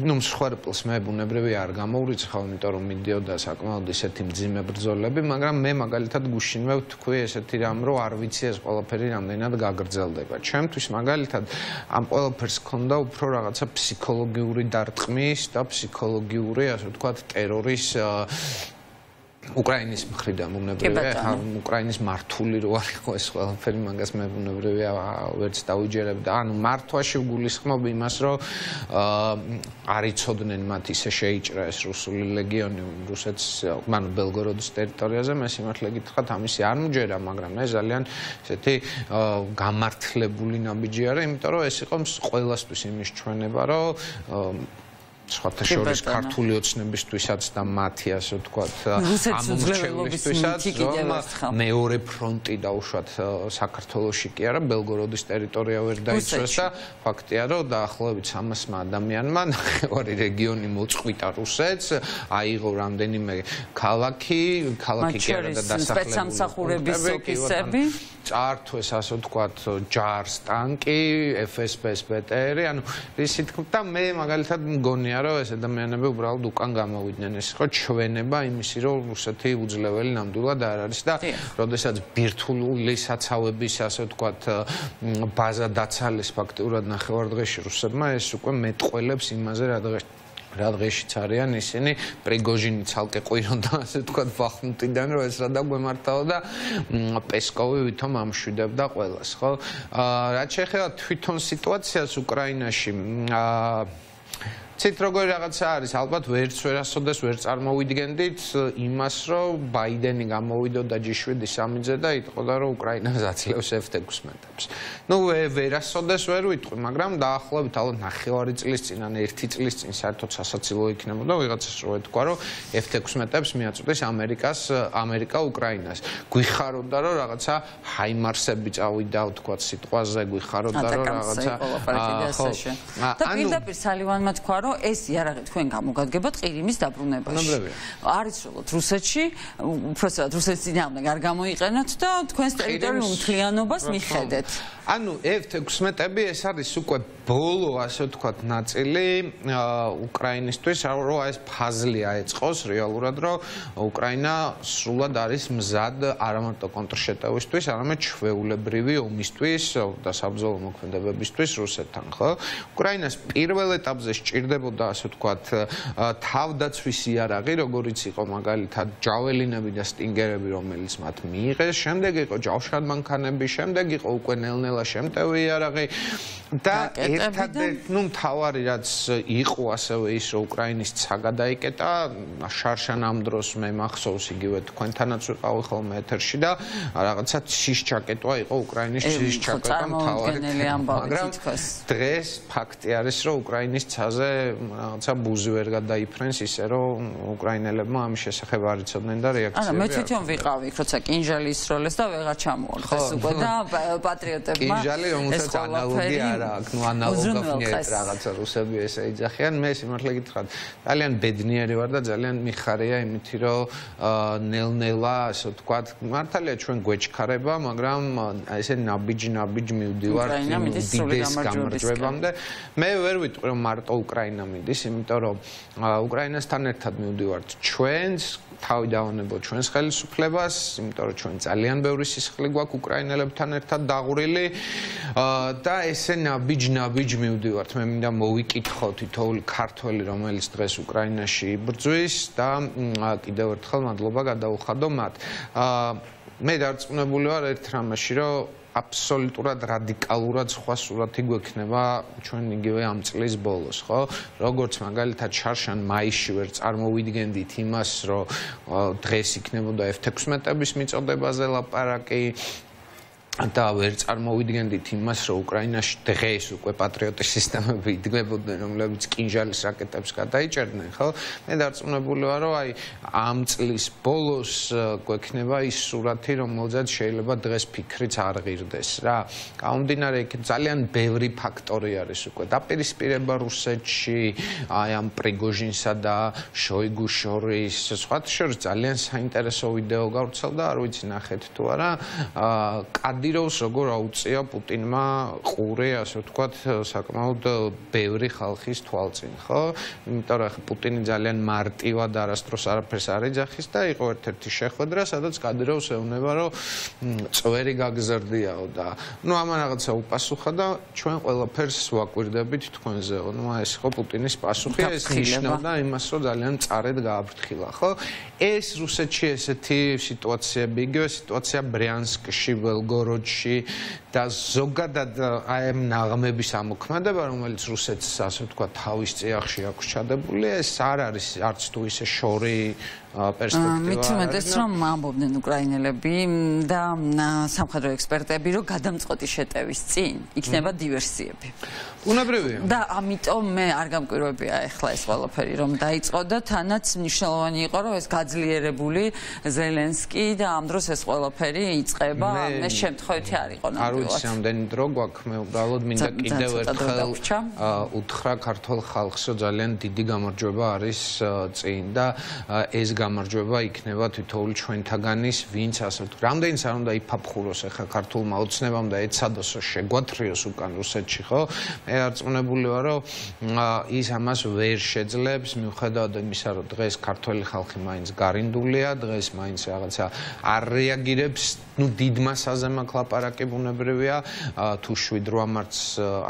ნუ მსხვერპლს მე ბუნებრივია არ გამოვრიცხავ, იმიტომ რომ მიდიოდა საკმაოდ ისეთი მძიმე ბრძოლები, მაგრამ მე მაგალითად გუშინვე ვთქვი ესეთი რამ, რომ არ ვიცი ეს ყველაფერი რამდენად გაგრძელდება. ჩემთვის მაგალითად ამ ყველაფერს ჰქონდა უფრო რაღაცა ფსიქოლოგიური დარტყმის და ფსიქოლოგიური, ასე ვთქვათ, ტერორის უკრაინის მხრიდან ბუნებრივია, უკრაინის მართული რო არ იყო ეს ყველაფერი, მაგას მე ბუნებრივია ვერც დავიჯერებდა. ანუ მართვაში ვგულისხმობ იმას, რომ არ იცოდნენ მათ ისე შეიჭრა ეს რუსული ლეგიონი რუსეთს, ანუ ბელგოროდის ტერიტორიაზე, მე სიმართლე გითხრათ, ამისი არ მჯერა, მაგრამ ეს ძალიან ესეთი გამართლებული ნაბიჯი არის, იმიტომ რომ ეს იყო ყველასთვის იმის ჩვენება, რომ სხვათა შორის ქართული ოცნებისთვისაც და მათი, ასე ვთქვათ, ამომრჩევლისთვისაც, რომ მეორე ფრონტი დაუშვათ საქართველოში კი არა, ბელგოროდის ტერიტორია ვერ დაიცვეს და ფაქტია, რომ დაახლოებით სამასმა ადამიანმა ნახევარი რეგიონი მოწყვიტა რუსეთს, აიღო რამდენიმე ქალაქი, ქალაქი კი არა და დასახლებული სპეცსამსახურების ოფიცრები წართვეს, ასე ვთქვათ, ჯარს ტანკი, ეფ ეს პე-ს ბეტერი, ანუ ისე თქმა, მე მაგალითად მგონია, რომ ეს ადამიანები უბრალოდ უკან გამოვიდნენ, ეს იყო ჩვენება იმისი, რომ რუსეთი უძლეველი ნამდვილად არ არის და როდესაც ბირთვული საცავების, ასე ვთქვათ, ბაზა დაცალეს ფაქტიურად ნახევარ დღეში რუსებმა, ეს უკვე მეტყველებს იმაზე, რა დღეს რა დღეშიც არიან ისინი, პრიგოჟინი ცალკე ყვირონდა, ასე ვთქვათ, ბახმუტიდან, რომ ეს რა დაგვემართაო და პესკოვი ვითომ ამშვიდებდა ყველას, ხო? რაც შეეხება თვითონ სიტუაციას უკრაინაში, ცით როგორი რაღაცა არის, ალბათ ვერც ვერასოდეს ვერ წარმოვიდგენდით იმას, რომ ბაიდენი გამოვიდოდა ჯი შვიდი სამიძე და იტყოდა, რომ უკრაინას ძლევს ეფ ეთექვსმეტებს. ნუ ვერასოდეს ვერ ვიტყვი, მაგრამ დაახლოებით ალბათ ნახევარი წლის წინ ან ერთი წლის წინ საერთოდ სასაცილო იქნებოდა ვიღაცას რო ეთქვა, რომ ეფ ეთექვსმეტებს მიაწვდეს ამერიკას, ამერიკა უკრაინას. გვიხარობდა, რომ რაღაცა ჰაიმარსები წავიდა, ვთქვათ, სიტყვაზე, გვიხარობდა, რომ რაღაცა და პირდაპირ სალივანმა თქვა, რომ ეს იარაღი თქვენ გამოგადგებათ ყირიმის დაბრუნებაში. არის სრულად რუსეთში, უბრალოდ რუსეთის წინააღმდეგ არ გამოიყენოთ და თქვენს ტერიტორიულ მთლიანობას მიხედეთ. ანუ ეფ ეთექვსმეტები ეს არის უკვე ბოლო, ასე ვთქვათ, ნაწილი უკრაინისთვის, რომ ეს ფაზლი აეწყოს რეალურად, რომ უკრაინა სრულად არის მზად არა მარტო კონტრშეტევისთვის, არამედ ჩვეულებრივი ომისთვის და საბრძოლო მოქმედებებისთვის რუსეთთან, ხო? უკრაინას პირველ ეტაპზე სჭირდებოდა, ასე ვთქვათ, თავდაცვის იარაღი, როგორიც იყო მაგალითად ჯაველინები და სტინგერები, რომელიც მათ მიიღეს, შემდეგ იყო ჯავშანმანქანები, შემდეგ იყო უკვე ნელ-ნელა შემტევი იარაღი და ერთადერთი, ნუ მთავარი რაც იყო ასევე ის, რომ უკრაინის ცა გადაიკეტა, შარშან ამ დროს მე მახსოვს იგივე თქვენთანაც ვიყავი ხოლმე ეთერში და რაღაცა ცის ჩაკეტვა იყო უკრაინის ცის ჩაკეტვა მთავარი, მაგრამ დღეს ფაქტი არის, რომ უკრაინის ცაზე რაღაცა ბუზი ვერ გადაიფრენს ისე, რომ უკრაინელებმა ამის შესახებ არ იცოდნენ და რეაქციები. არა, მე თვითონ ვიყავი, როცა კინჟალი ისროლეს და ვეღარ ჩამოვარდეს უკვე და პატრიოტებმა კინჟალი, რომელსაც ანალოგია არა აქვს, ნუ ანალოგია რაღაცა რუსები ესე იძახიან, მე სიმართლე გითხრათ, ძალიან ბედნიერი ვარ და ძალიან მიხარია იმითი, რომ ნელ-ნელა, ასე ვთქვათ, მართალია ჩვენ გვეჩქარება, მაგრამ ესე ნაბიჯ-ნაბიჯ მივდივართ უდიდეს გამარჯვებამდე. მე ვერ ვიტყვი, რომ მარტო უკრაინა მიდის, იმიტომ რომ უკრაინასთან ერთად მივდივართ ჩვენს თავი დავანებოთ ჩვენს ხელისუფლებას, იმიტომ რომ ჩვენ ძალიან ბევრი სისხლი გვაქვს უკრაინელებთან ერთად დაღვრილი და ესე ნაბიჯ-ნაბიჯ ნაბიჯ მივდივართ, მე მინდა მოვიკითხო თითოეული ქართველი, რომელიც დღეს უკრაინაში იბრძვის და კიდევ ერთხელ მადლობა გადაუხადო მათ. მე დარწმუნებული ვარ ერთ რამეში, რომ აბსოლუტურად რადიკალურად სხვა სურათი გვექნება ჩვენ იგივე ამ წლის ბოლოს, ხო? როგორც მაგალითად შარშან მაისში ვერ წარმოვიდგენდით იმას, რომ დღეს იქნებოდა ეფ თექვსმეტების მიწოდებაზე ლაპარაკი და ვერ წარმოვიდგენდით იმას, რომ უკრაინაში დღეს უკვე პატრიოტის სისტემები იდგმებოდნენ, რომლებიც კინჟალის რაკეტებს გადაიჭერდნენ, ხო? მე დარწმუნებული ვარ, რომ აი ამ წლის ბოლოს გვექნება ის სურათი, რომელზეც შეიძლება დღეს ფიქრიც არ ღირდეს რა. გამომდინარე იქ ძალიან ბევრი ფაქტორი არის უკვე დაპირისპირება რუსეთში, აი ამ პრიგოჟინსა და შოიგუს შორის, სხვათა შორის ძალიან საინტერესო ვიდეო გავრცელდა, არ ვიცი ნახეთ თუ არა, კადიროვს როგორ აუწია პუტინმა ყურე, ასე ვთქვათ, საკმაოდ ბევრი ხალხის თვალწინ, ხო? იმიტომ რომ პუტინი ძალიან მარტივად არასდროს არაფერს არ ეძახის და იყო ერთ-ერთი შეხვედრა, სადაც კადიროვს ეუბნება, რომ წვერი გაგზრდიაო და ნუ ამან რაღაცა უპასუხა და ჩვენ ყველაფერს ვაკვირდებით თქვენზეო. ნუ ეს ხო პუტინის პასუხია, ეს ნიშნავდა იმას, რომ ძალიან მწარედ გააფრთხილა, ხო? ეს რუსეთში ესეთი სიტუაციები, იგივე სიტუაცია ბრიანსკში, ველგოროდში და ზოგადად აი ამ ნაღმების ამოქმედება, რომელიც რუსეთს ასე ვთქვათ თავის წიაღში აქვს ჩადებული, ეს არ არის არც თუ ისე შორი პერსპექტივა. მით უმეტეს რომ ამბობდნენ უკრაინელები და სამხედრო ექსპერტები, რომ გადამწყვეტი შეტევის წინ იქნება დივერსიები. უნებრივია. და ამიტომ მე არ გამკვირვებია ახლა ეს ყველაფერი რომ დაიწყო და თანაც მნიშვნელოვანი იყო რომ ეს გაძლიერებული ზელენსკი და ამ დროს ეს ყველაფერი იწყება, მე შემთხვევითი არ იყო ნამდვილად. არ ვიცი ამდენი დრო გვაქვს, მე უბრალოდ მინდა კიდევ ერთხელ უთხრა ქართულ ხალხს, რომ ძალიან დიდი გამარჯვება არის წინ და ეს გამარჯვება იქნება თითოეული ჩვენთაგანის, ვინც ასე ვთქვათ, რამდენიც არ უნდა იფაფხუროს ახლა ქართულმა ოცნებამ და ეცადოს შეგვათრიოს უკან რუსეთში, ხო? მე დარწმუნებული ვარ, რომ ის ამას ვერ შეძლებს, მიუხედავად იმისა, რომ დღეს ქართველი ხალხი მაინც გარინდულია, დღეს მაინც რაღაცა არ რეაგირებს, ნუ დიდ მასაზე მაქვს ლაპარაკი ბუნებრივია, თუ შვიდ რვა მარტს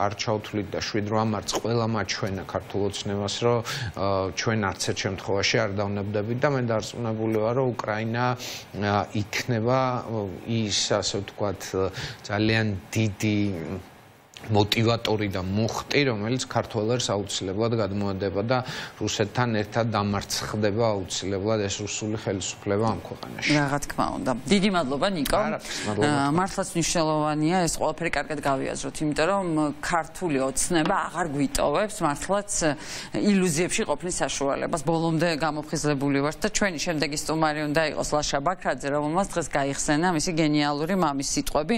არ ჩავთვლით და შვიდ რვა მარტს ყველა მაჩვენა ქართულ ოცნებას, რომ ჩვენ არც ერთ შემთხვევაში არ დავნებდებით და მე დარწმუნებული ვარ, რომ უკრაინა იქნება ის, ასე ვთქვათ, ძალიან დიდი მოტივატორი და მუხტი, რომელიც ქართველებს აუცილებლად გადმოედება და რუსეთთან ერთად დამარცხდება აუცილებლად ეს რუსული ხელისუფლება ამ ქვეყანაში. რა თქმა უნდა. დიდი მადლობა ნიკო. მართლაც მნიშვნელოვანია ეს ყველაფერი კარგად გავიაზროთ, იმიტომ რომ ქართული ოცნება აღარ გვიტოვებს მართლაც ილუზიებში ყოფნის საშუალებას. ბოლომდე გამოფხიზლებული ვართ და ჩვენი შემდეგი სტუმარი უნდა იყოს ლაშა ბაქრაძე, რომელმაც დღეს გაიხსენა მისი გენიალური მამის სიტყვები,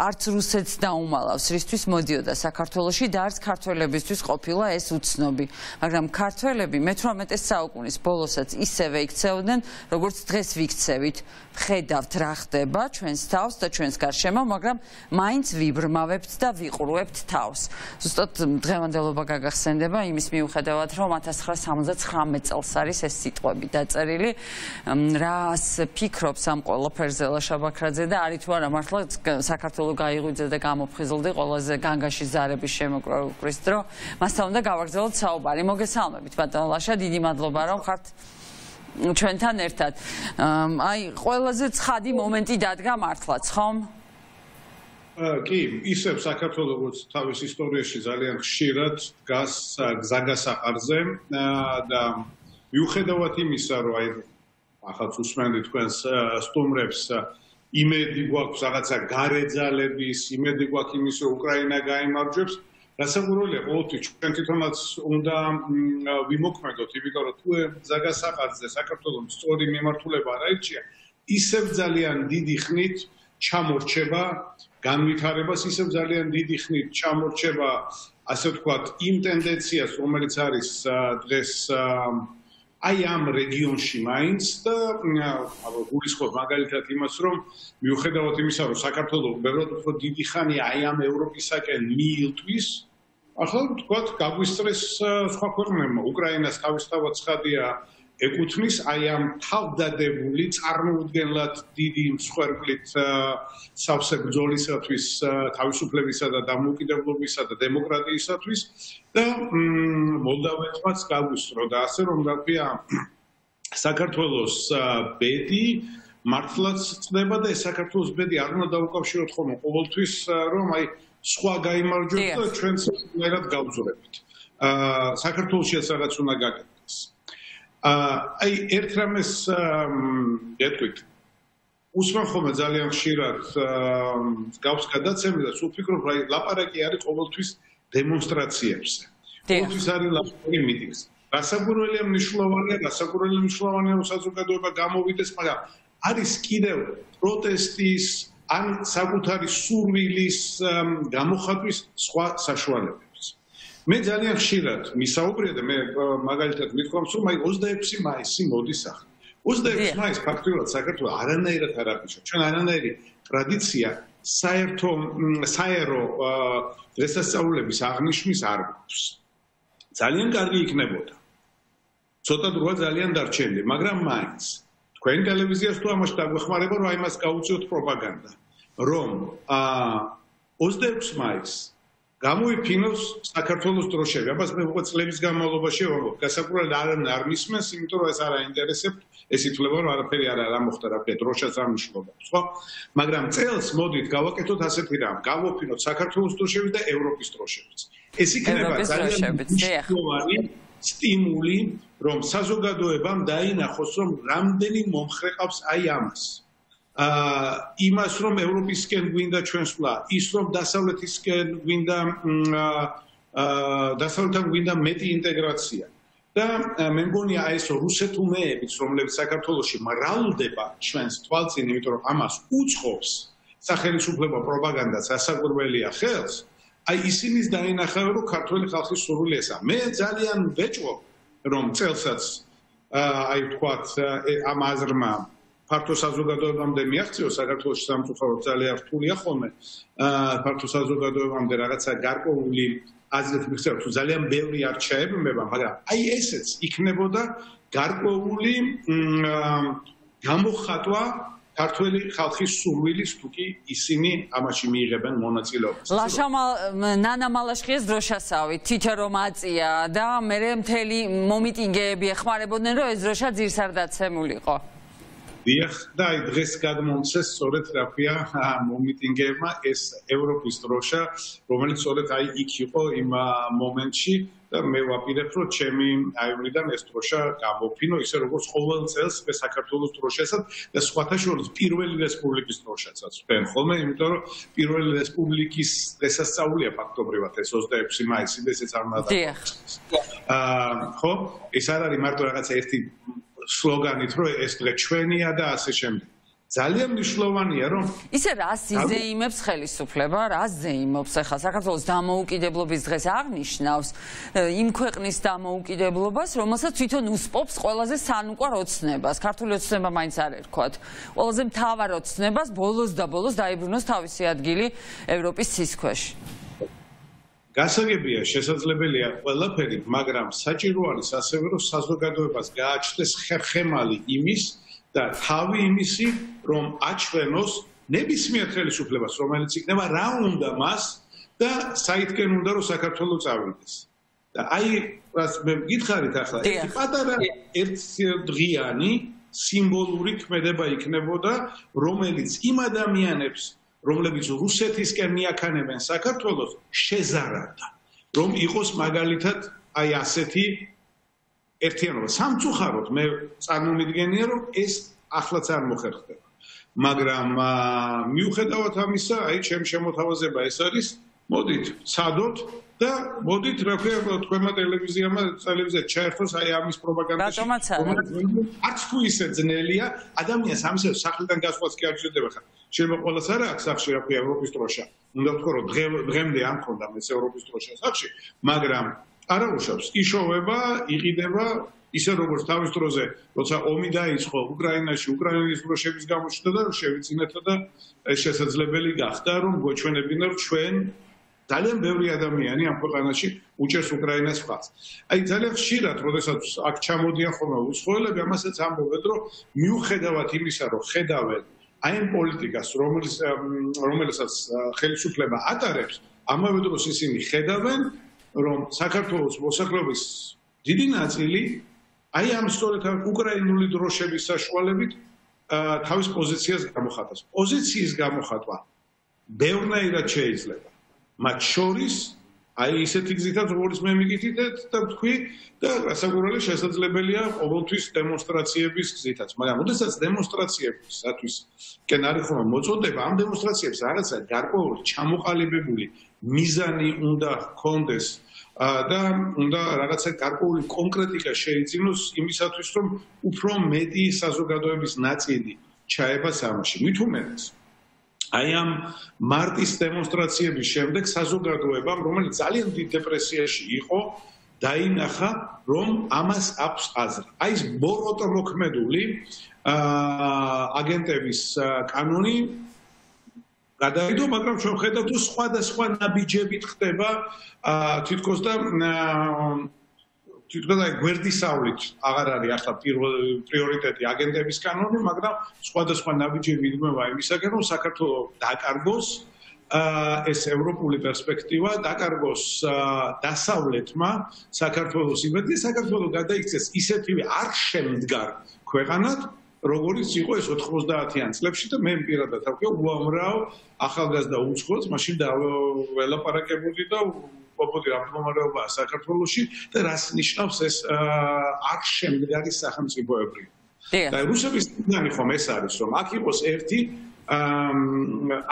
არც რუსეთს დაუმალავს, რისთვის მოდიოდა საქართველოში და არც ქართველებისთვის ყოფილა ეს უცნობი. მაგრამ ქართველები მეთვრამეტე საუკუნის ბოლოსაც ისევე იქცეოდნენ, როგორც დღეს ვიქცევით. ხედავთ რა ხდება ჩვენს თავს და ჩვენს გარშემო, მაგრამ მაინც ვიბრმავებთ და ვიყურვებთ თავს. ზუსტად დღევანდელობა გაგახსენდება იმის მიუხედავად, რომ ათას ცხრაასა სამოცდათხრამეტ წელს არის ეს სიტყვები დაწერილი. რას ფიქრობს ამ ყველაფერზე ლაშა ბაქრაძე და არის თუ არა მართლა საქართველო გაიღვიძე და გამოფხიზლდი ყველაზე განგაში ზარების შემოკვრის დრო, მასთან უნდა გავაგრძელოთ საუბარი. მოგესალმებით ბატონო ლაშა, დიდი მადლობა რომ ხართ ჩვენთან ერთად. აი, ყველაზე ცხადი მომენტი დადგა მართლაც, ხომ? კი, ისევ საქართველოს როგორც თავის ისტორიაში ძალიან ხშირად დგას გზაგასაყარზე და მიუხედავად იმისა, რომ აი ახალ უსმენდი თქვენს სტუმრებს იმედი გვაქვს რაღაცა გარეძალების, იმედი გვაქვს იმის, რომ უკრაინა გაიმარჯვებს, რასაკვირველია, ყოველთვის ჩვენ თვითონაც უნდა ვიმოქმედოთ, იმიტომ რომ თუ გზაგასაყარზე საქართველოს სწორი მიმართულება არ აირჩია, ისევ ძალიან დიდი ხნით ჩამორჩება განვითარებას, ისევ ძალიან დიდი ხნით ჩამორჩება, ასე ვთქვათ, იმ ტენდენციას, რომელიც არის დღეს აი ამ რეგიონში მაინც და გულისხმობ მაგალითად იმას, რომ მიუხედავად იმისა, რომ საქართველოს უბრალოდ უფრო დიდი ხანია აი ამ ევროპისაკენ მიილტვის, ახლა ვთქვათ, გაგვისწრეს სხვა ქვეყნებმა. უკრაინას თავისთავად ცხადია ეკუთვნის აი ამ თავდადებული წარმოუდგენლად დიდი მსხვერპლით სავსე ბრძოლისათვის, თავისუფლებისა და დამოუკიდებლობისა და დემოკრატიისათვის და მოლდავეთმაც გავუსწრო და ასე რომ გაქვია საქართველოს ბედი მართლაც წდება და ეს საქართველოს ბედი არ უნდა დაუკავშიროთ ხოლმე ყოველთვის რომ აი სხვა გაიმარჯვოთ და ჩვენც ერთად გავძურებით. აა საქართველოშიც რაღაც უნდა გაკეთდეს. აი ერთ რამეს ეთქვით უსმენ ხოლმე ძალიან ხშირად გავს გადაცემას უფიქრობ რა ლაპარაკი არის ყოველთვის დემონსტრაციებზე. ყოველთვის არის ლაპარაკი მიტინგზე. გასაგურველია მნიშვნელოვანია, გასაგურველია მნიშვნელოვანია რომ საზოგადოება გამოვიდეს, მაგრამ არის კიდევ პროტესტის ან საკუთარი სურვილის გამოხატვის სხვა საშუალებები. მე ძალიან ხშირად მისაუბრია და მე მაგალითად მithქვამს რომ აი ოცდაექვსი მაისი მოდის ახლა. ოცდაექვსი მაისი ფაქტობრივად საქართველოს არანაირად არ აღნიშნავს. ჩვენ არანაირი ტრადიცია საერთო საერო დღესასწაულების აღნიშვნის არ გვაქვს. ძალიან კარგი იქნებოდა. ცოტა დროა ძალიან დარჩენილი, მაგრამ მაინც თქვენ ტელევიზიას თუ ამაში დაგვეხმარება რომ აი მას გაუწიოთ პროპაგანდა, რომ ოცდაექვსი მაისს გამოიფინოს საქართველოს დროშები. აბას მე უკვე წლების განმავლობაში ვამბობ, გასაკურალ არ არ მისმენს, იმიტომ რომ ეს არ აინტერესებთ, ეს ითვლება რომ არაფერი არ არ მოხდა, რა ქვია, დროშაც არ მნიშვნელობს, ხო? მაგრამ წელს მოდით გავაკეთოთ ასეთი რამ, გავოფინოთ საქართველოს დროშები და ევროპის დროშებიც. ეს იქნება ძალიან მნიშვნელოვანი სტიმული, რომ საზოგადოებამ დაინახოს, რომ რამდენი მომხრე ყავს აი ამას. აა იმას რომ ევროპისკენ გვინდა ჩვენსვლა, ის რომ დასავლეთისკენ გვინდა აა დასავლეთთან გვინდა მეტი ინტეგრაცია. და მე მგონია აი ეს რუსეთუმეებიც, რომლებიც საქართველოში მრავლდება ჩვენს თვალწინ, იმიტომ რომ ამას უწყობს სახელმწიფო პროპაგანდაც ასაკურველია ხელს, აი ისინიც დაინახავენ რომ ქართული ხალხის სურვილი ესა. მე ძალიან ვეჭვობ რომ წელსაც აი ვთქვათ ამ აზრმა ფართო საზოგადოებამდე მიაღწიოს საქართველოს სამწუხაროდ ძალიან რთულია ხოლმე ფართო საზოგადოებამდე რაღაცა გარკვეული აზრით მიხსენებთ თუ ძალიან ბევრი არ ჩაებმება, მაგრამ აი ესეც იქნებოდა გარკვეული გამოხატვა ქართველი ხალხის სურვილის თუ კი ისინი ამაში მიიღებენ მონაწილეობას. ლაშამა ნანა მალაშხიეს დროშასავით თითო რომ აწია და მე მთელი მომიტინგეები ეხმარებოდნენ რომ ეს დროშა ძირს არ დაცემულიყო. დიახ, და აი დღეს გადმომცეს სწორედ რა ქვია მომიტინგეებმა ეს ევროპის დროშა, რომელიც სწორედ აი იქ იყო იმ მომენტში და მე ვაპირებ რომ ჩემი აივნიდან ეს დროშა გამოფინო ისე როგორც ყოველ წელს საქართველოს დროშასაც და სხვათა შორის პირველი რესპუბლიკის დროშაცაც ვფენ ხოლმე, იმიტომ რომ პირველი რესპუბლიკის დღესასწაულია ფაქტობრივად ეს ოცდაექვსი მაისი და ესეც არ უნდა დაგწეს. აა ხო, ეს არ არის მარტო რაღაცა ერთი სლოგანით რომ ეს დღე ჩვენია და ასე შემდეგ. ძალიან მნიშვნელოვანია რომ ისე რას იზეიმებს ხელისუფლება, რას ზეიმობს ახლა საქართველოს დამოუკიდებლობის დღეს აღნიშნავს იმ ქვეყნის დამოუკიდებლობას, რომელსაც თვითონ უსპობს ყველაზე სანუკვარ ოცნებას. ქართული ოცნება მაინც არ ერქვათ. ყველაზე მთავარ ოცნებას ბოლოს და ბოლოს დაიბრუნოს თავისი ადგილი ევროპის ცის ქვეშ. გასაგებია, შესაძლებელია ყველაფერი, მაგრამ საჭირო არის ასევე რომ საზოგადოებას გააჩნდეს ხერხემალი იმის და თავი იმისი, რომ აჩვენოს ნებისმიერ ხელისუფლებას, რომელიც იქნება რა უნდა მას და საითკენ უნდა რომ საქართველოს წავიდეს. და აი, რას მე მგითხარით ახლა, ერთი პატარა ერთდღიანი სიმბოლური ქმედება იქნებოდა, რომელიც იმ ადამიანებს რომლებიც რუსეთისკენ მიაქანებენ საქართველოს შეზარდა, რომ იყოს მაგალითად აი ასეთი ერთიანობა. სამწუხაროდ მე წარმომიდგენია, რომ ეს ახლაც არ მოხერხდება. მაგრამ მიუხედავად ამისა, აი ჩემ შემოთავაზება ეს არის, მოდით, ცადოთ და მოდით, რა ქვია, თქვენმა ტელევიზიამა ტელევიზიად ჩაერთოს აი ამის პროპაგანდაში. არც თუ ისე ძნელია, ადამიანს ამისე სახლიდან გასვლაც კი არ შეიძლება ხარ. შეიძლება ყოველას არ აქვს სახში, რა ქვია, ევროპის დროშა. უნდა ვთქვა, რომ დღემდე არ მქონდა მეც ევროპის დროშა სახში, მაგრამ არა უშავს, იშოვება, იყიდება ისე როგორც თავის დროზე, როცა ომი დაიწყო უკრაინაში, უკრაინის დროშების გამოჩნდა და შევიძინეთ და ეს შესაძლებელი გახდა, რომ გვეჩვენებინა, რომ ჩვენ ძალიან ბევრი ადამიანი ამ ქვეყანაში უჭერს უკრაინას მხარს. აი ძალიან ხშირად, როდესაც აქ ჩამოდიან ხოლმე უცხოელები, ამასაც ამბობენ, რომ მიუხედავად იმისა, რომ ხედავენ აი ამ პოლიტიკას, რომელიც რომელსაც ხელისუფლება ატარებს, ამავე დროს ისინი ხედავენ, რომ საქართველოს მოსახლეობის დიდი ნაწილი აი ამ სწორედ უკრაინული დროშების საშუალებით თავის პოზიციას გამოხატავს. პოზიციის გამოხატვა ბევრნაირად შეიძლება. მათ შორის აი ისეთი გზითაც, როგორც მე მიკითხეთ და ვთქვი, და რასაკვირველია შესაძლებელია ყოველთვის დემონსტრაციების გზითაც. მაგრამ ოდესაც დემონსტრაციებისათვის კენ არის ხოლმე მოწოდება, ამ დემონსტრაციებს რაღაცა გარკვეული ჩამოყალიბებული მიზანი უნდა ჰქონდეს და უნდა რაღაცა გარკვეული კონკრეტიკა შეიძინოს იმისათვის, რომ უფრო მეტი საზოგადოების ნაწილი ჩაება სამში. მით უმეტეს აი ამ მარტის დემონსტრაციების შემდეგ საზოგადოებამ, რომელიც ძალიან დიდ დეპრესიაში იყო, დაინახა, რომ ამას აქვს აზრი. აი ეს ბოროტმოქმედული აგენტების კანონი გადაიდო, მაგრამ ჩვენ ხედავთ, რომ სხვადასხვა ნაბიჯებით ხდება თითქოს და თითქოს აი გვერდისავლით აღარ არის ახლა პრიორიტეტი აგენტების კანონი, მაგრამ სხვადასხვა ნაბიჯები იდგმება იმისაგან, რომ საქართველოს დაკარგოს ეს ევროპული პერსპექტივა, დაკარგოს დასავლეთმა საქართველოს იმედი, საქართველოს გადაიქცეს ისეთივე არ შემდგარ ქვეყანად, როგორც იყო ეს ოთხმოცდაათიან წლებში და მე პირადად ვთქვი, უამრავ ახალგაზრდა უცხოელს მაშინ დაველაპარაკებული და ყოფილი ამ მდგომარეობაა საქართველოში და რას ნიშნავს ეს არ შემდგარი სახელმწიფოებრივი. და რუსების მიზანი ხომ ეს არის, რომ აქ იყოს ერთი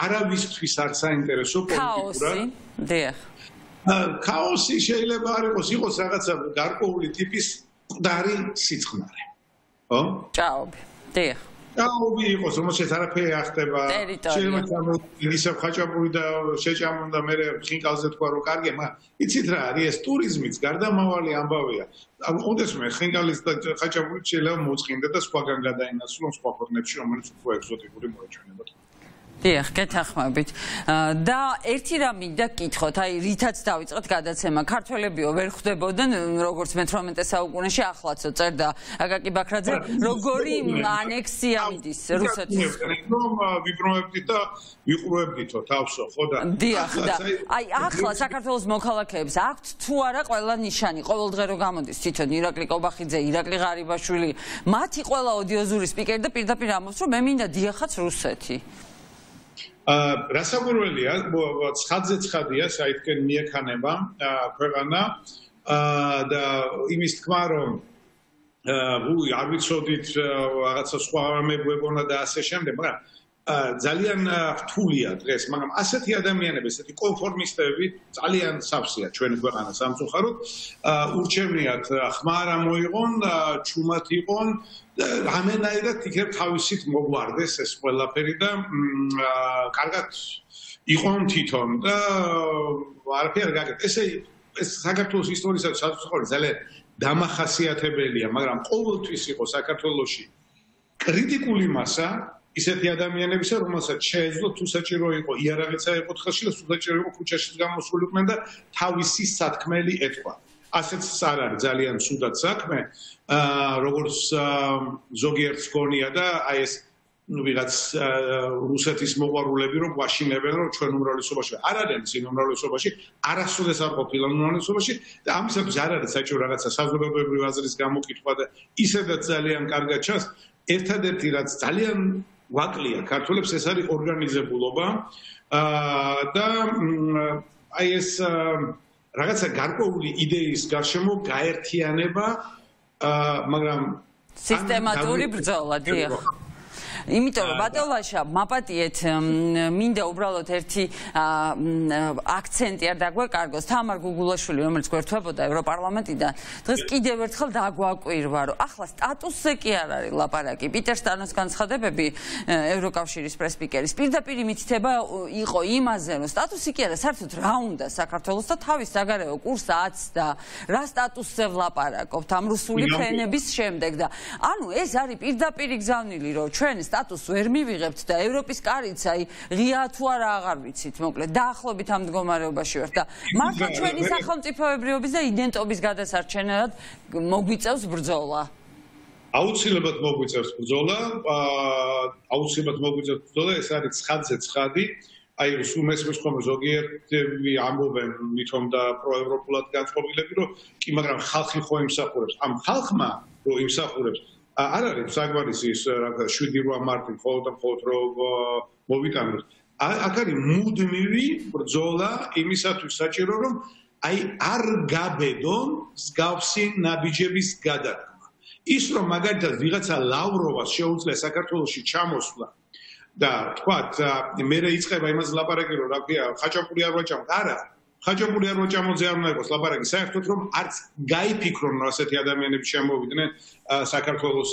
არავისთვის არ საინტერესო პოლიტიკურად დიახ. ქაოსი შეიძლება არ იყოს, იყოს რაღაცა გარკვეული ტიპის მკვდარი სიწყნარე. ხო? ჭაობი. დიახ. ჭაობი იყოს, რომელსაც არაფერი არ ხდება. შეიძლება ისევ ხაჭაპური და შეჭამონ და მე ხინკალზე თქვა, რომ კარგი, მაგრამ იცით რა არის ეს ტურიზმიც გარდამავალი ამბავია. ოდესმე ხინკალის და ხაჭაპური შეიძლება მოწყინდა და სხვაგან გადაინაცვლონ სხვა ქვეყნებში, რომელიც უფრო ეგზოტიკური მოეჩვენებათ. დიახ, გეთანხმებით. და ერთი რამ მინდა გკითხოთ, აი რითაც დავიწყეთ გადაცემა, ქართველებიო ვერ ხვდებოდნენ, როგორც მეთვრამეტე საუკუნეში ახლაცო წერდა აკაკი ბაქრაძე, როგორი ანექსია მიდის რუსეთის. რომ ვიბრუნებდით და ვიყურებდითო თავსო, ხო და დიახ, და აი ახლა საქართველოს მოქალაქეებს აქვთ თუ არა ყველა ნიშანი, ყოველდღე რო გამოდის თვითონ ირაკლი კობახიძე, ირაკლი ღარიბაშვილი, მათი ყველა ოდიოზური სპიკერი და პირდაპირ ამბობს, რომ მე მინდა დიახაც რუსეთი. რასაკვირველია, ცხადზე ცხადია, საითკენ მიექანება ქვეყანა და იმის თქმა, რომ არ ვიცოდით რაღაცა სხვა მეგობრებონა და ასე შემდეგ, მაგრამ ძალიან რთულია დღეს, მაგრამ ასეთი ადამიანები, ესეთი კონფორმისტები ძალიან სავსეა ჩვენი ქვეყანა სამწუხაროდ, ურჩევნიათ ხმა არ მოიღონ, ჩუმად იყონ და რამენაირად იქნებ თავისით მოგვარდეს ეს ყველაფერი და კარგად იყონ თვითონ და არაფერი არ გაკეთეს. ესე ეს საქართველოს ისტორიისათვის საზოგადოებრივ ძალიან დამახასიათებელია, მაგრამ ყოველთვის იყო საქართველოში კრიტიკული მასა ისეთი ადამიანებისა, რომელსაც შეეძლო თუ საჭირო იყო იარაღიც აეყოთხელში და თუ საჭირო იყო ქუჩაში გამოსულიყვნენ და თავისი სათქმელი ეთქვა. ასეც არ არის ძალიან ცუდად საქმე, როგორც ზოგიერთს გონია და აი ეს ვიღაც რუსეთის მოყვარულები რომ გვაშინებენ, რომ ჩვენ უმრავლესობაში არ არიან წინ უმრავლესობაში, არასოდეს არ ყოფილან უმრავლესობაში და ამისათვის არ არის საჭირო რაღაცა საზოგადოებრივი აზრის გამოკითხვა და ისედაც ძალიან კარგად ჩანს, ერთადერთი რაც ძალიან ვაკლია ქართველებს ეს არის ორგანიზებულობა და აი ეს რაღაცა გარკვეული იდეის გარშემო გაერთიანება, მაგრამ სისტემატური ბრძოლა, დიახ. იმიტომ რომ ბატონლაშა მაპატიეთ მინდა უბრალოდ ერთი აქცენტი არ დაგვეკარგოს თამარ გუგულაშვილი რომელიც გვერდებოდა ევროპარლამენტიდან დღეს კიდევ ერთხელ დაგვაკვირვა რომ ახლა სტატუსზე კი არ არის ლაპარაკი პიტერ სტანოს განცხადებები ევროკავშირის პრესპიკერის პირდაპირ მითითება იყო იმაზე რომ სტატუსი კი არა საერთოდ რა უნდა საქართველოს და თავის საგარეო კურსს აცდა რა სტატუსზე ვლაპარაკობთ ამ რუსული ფრენების შემდეგ და ანუ ეს არის პირდაპირ გზავნილი რომ ჩვენ სტატუსს ვერ მივიღებთ და ევროპის კარიც აი ღია თუ არა აღარ ვიცით, მოკლედ დაახლოებით ამ მდგომარეობაში ვართ და მართლა ჩვენი სახელმწიფოებრიობის და იდენტობის გადასარჩენად მოგვიწევს ბრძოლა. აუცილებლად მოგვიწევს ბრძოლა, აუცილებლად მოგვიწევს ბრძოლა, ეს არის ცხადზე ცხადი. აი სულ მესმის ხომ ზოგიერთი ამბობენ მithom და პროევროპულად განწყობილები, რომ კი, მაგრამ ხალხი ხო იმსახურებს. ამ ხალხმა რო იმსახურებს, არ არის საგვარისი ის რაღაც შვიდი რვა მარტი მხოლოდ და მხოლოდ რო მოვიტანოთ. აქ არის მუდმივი ბრძოლა იმისათვის საჭირო, რომ აი არ გაბედონ მსგავსი ნაბიჯების გადადგმა. ის რომ მაგალითად ვიღაცა ლავროვას შეუძლია საქართველოში ჩამოსვლა და თქვათ მე რეიწყება იმას ლაპარაკი რომ რა ქვია ხაჭაპური არ ვაჭამოთ არა ხაჭაპური არ ვაჭამოზე არ უნდა იყოს ლაპარაკი საერთოდ რომ არც გაიფიქრონ რომ ასეთი ადამიანები შემოვიდნენ საქართველოს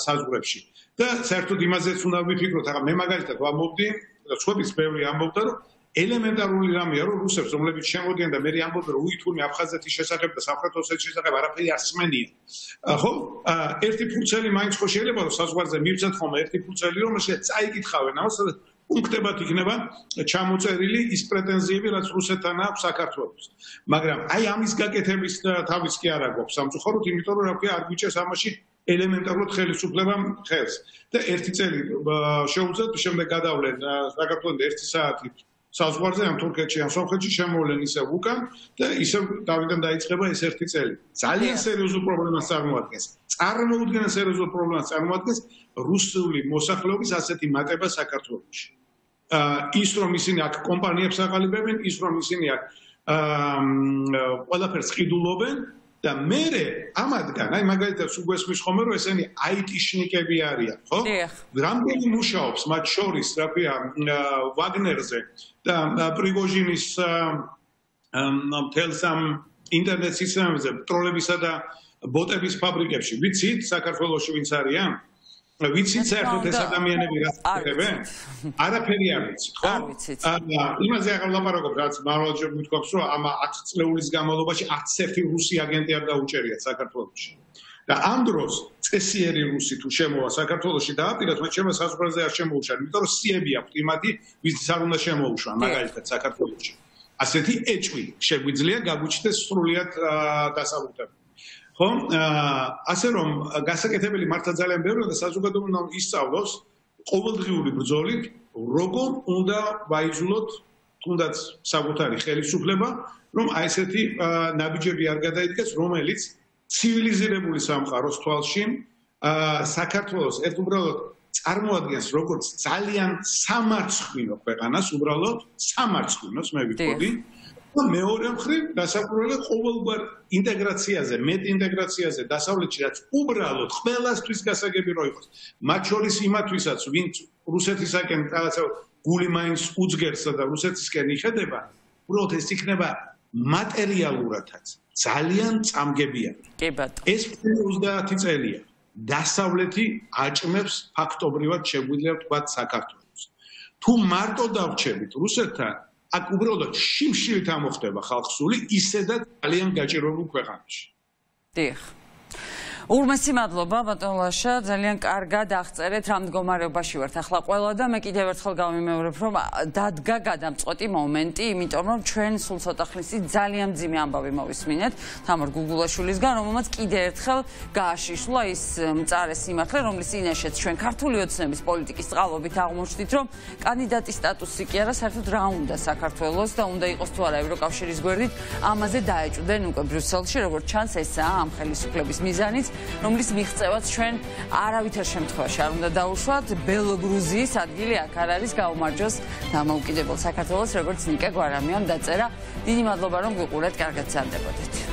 საზღვრებში და საერთოდ იმაზეც უნდა ვიფიქროთ ახლა მე მაგალითად ვამბობდი და სხვაებიც ბევრი ამბობდა რომ ელემენტარული რამეა რომ რუსებს რომლებიც შემოდიან და მე ამბობენ რომ უითურმე აფხაზეთის შესახებ და სამხრეთ ოსეთის შესახებ არაფერი არ სმენია ხო ერთი ფურცელი მაინც ხო შეიძლება რომ საზღვარზე მივცეთ ხოლმე ერთი ფურცელი რომ შეიძლება წაიკითხავენ ამას პუნქტებად იქნება ჩამოწერილი ის პრეტენზიები რაც რუსეთთან აქვს საქართველოს მაგრამ აი ამის გაკეთების თავის კი არ აქვს სამწუხაროდ იმიტომ რომ რა ქვია არ გვიჭერს ამაში ელემენტარულად ხელისუფლებამ ხელს და ერთი წელი შეუძლოთ შემდეგ გადავლენ საქართველოს ერთი საათი საზღვარზე ამ თურქეთში ან სომხეთში შემოვლენ ისევ უკან და ისევ დავიდან დაიწყება ეს ერთი წელი. ძალიან სერიოზულ პრობლემას წარმოადგენს. წარმოუდგენელ სერიოზულ პრობლემას წარმოადგენს რუსული მოსახლეობის ასეთი მატება საქართველოში. ის რომ ისინი აქ კომპანიებს აყალიბებენ, ის რომ ისინი აქ ყველაფერს ყიდულობენ და მერე ამადგან, აი მაგალითად უგვესმის ხომ რომ ესენი აიტიშნიკები არიან, ხო? რამდენი მუშაობს მათ შორის, რა ქვია, ვაგნერზე და პრიგოჟინის მთელს ამ ინტერნეტ სისტემებზე, ტროლებისა და ბოტების ფაბრიკებში. ვიცით საქართველოში ვინც არიან? ვიცით საერთოდ ეს ადამიანები რა ხდებენ? არაფერი არ ვიცით, ხო? იმაზე აღარ ლაპარაკობ, რაც მარვალჯერ მithქვამს, რომ ამ ათი წლეულის განმავლობაში არც ერთი რუსი აგენტი არ დაუჭერიათ საქართველოში. და ამ დროს წესიერი რუსი თუ შემოვა საქართველოში დააპირას, მათ შემო საზღვარზე არ შემოუშვან, იმიტომ რომ სიები აქვთ იმათი, ვინც არ უნდა შემოუშვან, მაგალითად საქართველოში. ასეთი ეჭვი შეგვიძლია გაგვიჩნდეს სრულიად დასაბუთებული. ხო, ასე რომ გასაკეთებელი მართლა ძალიან ბევრია და საზოგადოება ისწავლოს ყოველდღიური ბრძოლით, როგორ უნდა ვაიძულოთ თუნდაც საკუთარი ხელისუფლება, რომ აი ესეთი ნაბიჯები არ გადაიდგეს, რომელიც ცივილიზირებული სამყაროს თვალში საქართველოს ერთ უბრალოდ წარმოადგენს როგორც ძალიან სამარცხვინო ქვეყანას, უბრალოდ სამარცხვინოს მე ვიტყოდი. და მეორე მხრივ დასაკვირველად ყოველგვარ ინტეგრაციაზე, მეტ ინტეგრაციაზე დასავლეთში რაც უბრალოდ ყველასთვის გასაგები რო იყოს. მათ შორის იმათვისაც, ვინც რუსეთისაკენ რაღაცა გული მაინც უძგერსა და რუსეთისკენ იხედება, უბრალოდ ეს იქნება მატერიალურადაც ძალიან წამგებიანი. კი ბატონო. ეს ოცდაათი წელია. დასავლეთი აჭმევს ფაქტობრივად შეგვიძლია ვთქვათ საქართველოს. თუ მარტო დავრჩებით რუსეთთან აქ უბრალოდ შიმშილით ამოხდება ხალხსული ისედაც ძალიან გაჭირვებულ ქვეყანაში. დიახ. ურმესი მადლობა ბატონ ლაშა, ძალიან კარგად აღწერეთ რა მდგომარეობაში ვართ ახლა ყველა და მე კიდევ ერთხელ გავიმეორებ რომ დადგა გადამწყვეტი მომენტი, იმიტომ რომ ჩვენ სულ ცოტა ხნის წინ ძალიან მძიმე ამბავი მოვისმინეთ თამარ გუგულაშვილისგან, რომელმაც კიდევ ერთხელ გააშიშლა ის მწარე სიმართლე, რომლის წინაშეც ჩვენ ქართული ოცნების პოლიტიკის წყალობით აღმოჩნდით, რომ კანდიდატის სტატუსი კი არა, საერთოდ რა უნდა საქართველოს და უნდა იყოს თუ არა ევროკავშირის გვერდით, ამაზე დაეჭვდნენ უკვე ბრიუსელში, როგორც ჩანს ესაა ამ ხელისუფლების მიზანიც. რომლის მიღწევაც ჩვენ არავითარ შემთხვევაში არ უნდა დაუშვათ, ბელოგრუზიის ადგილი აქ არ არის, გაუმარჯოს დამოუკიდებელ საქართველოს, როგორც ნიკა გვარამიამ დაწერა. დიდი მადლობა რომ გვიყურეთ, კარგად გრძანდებოდეთ.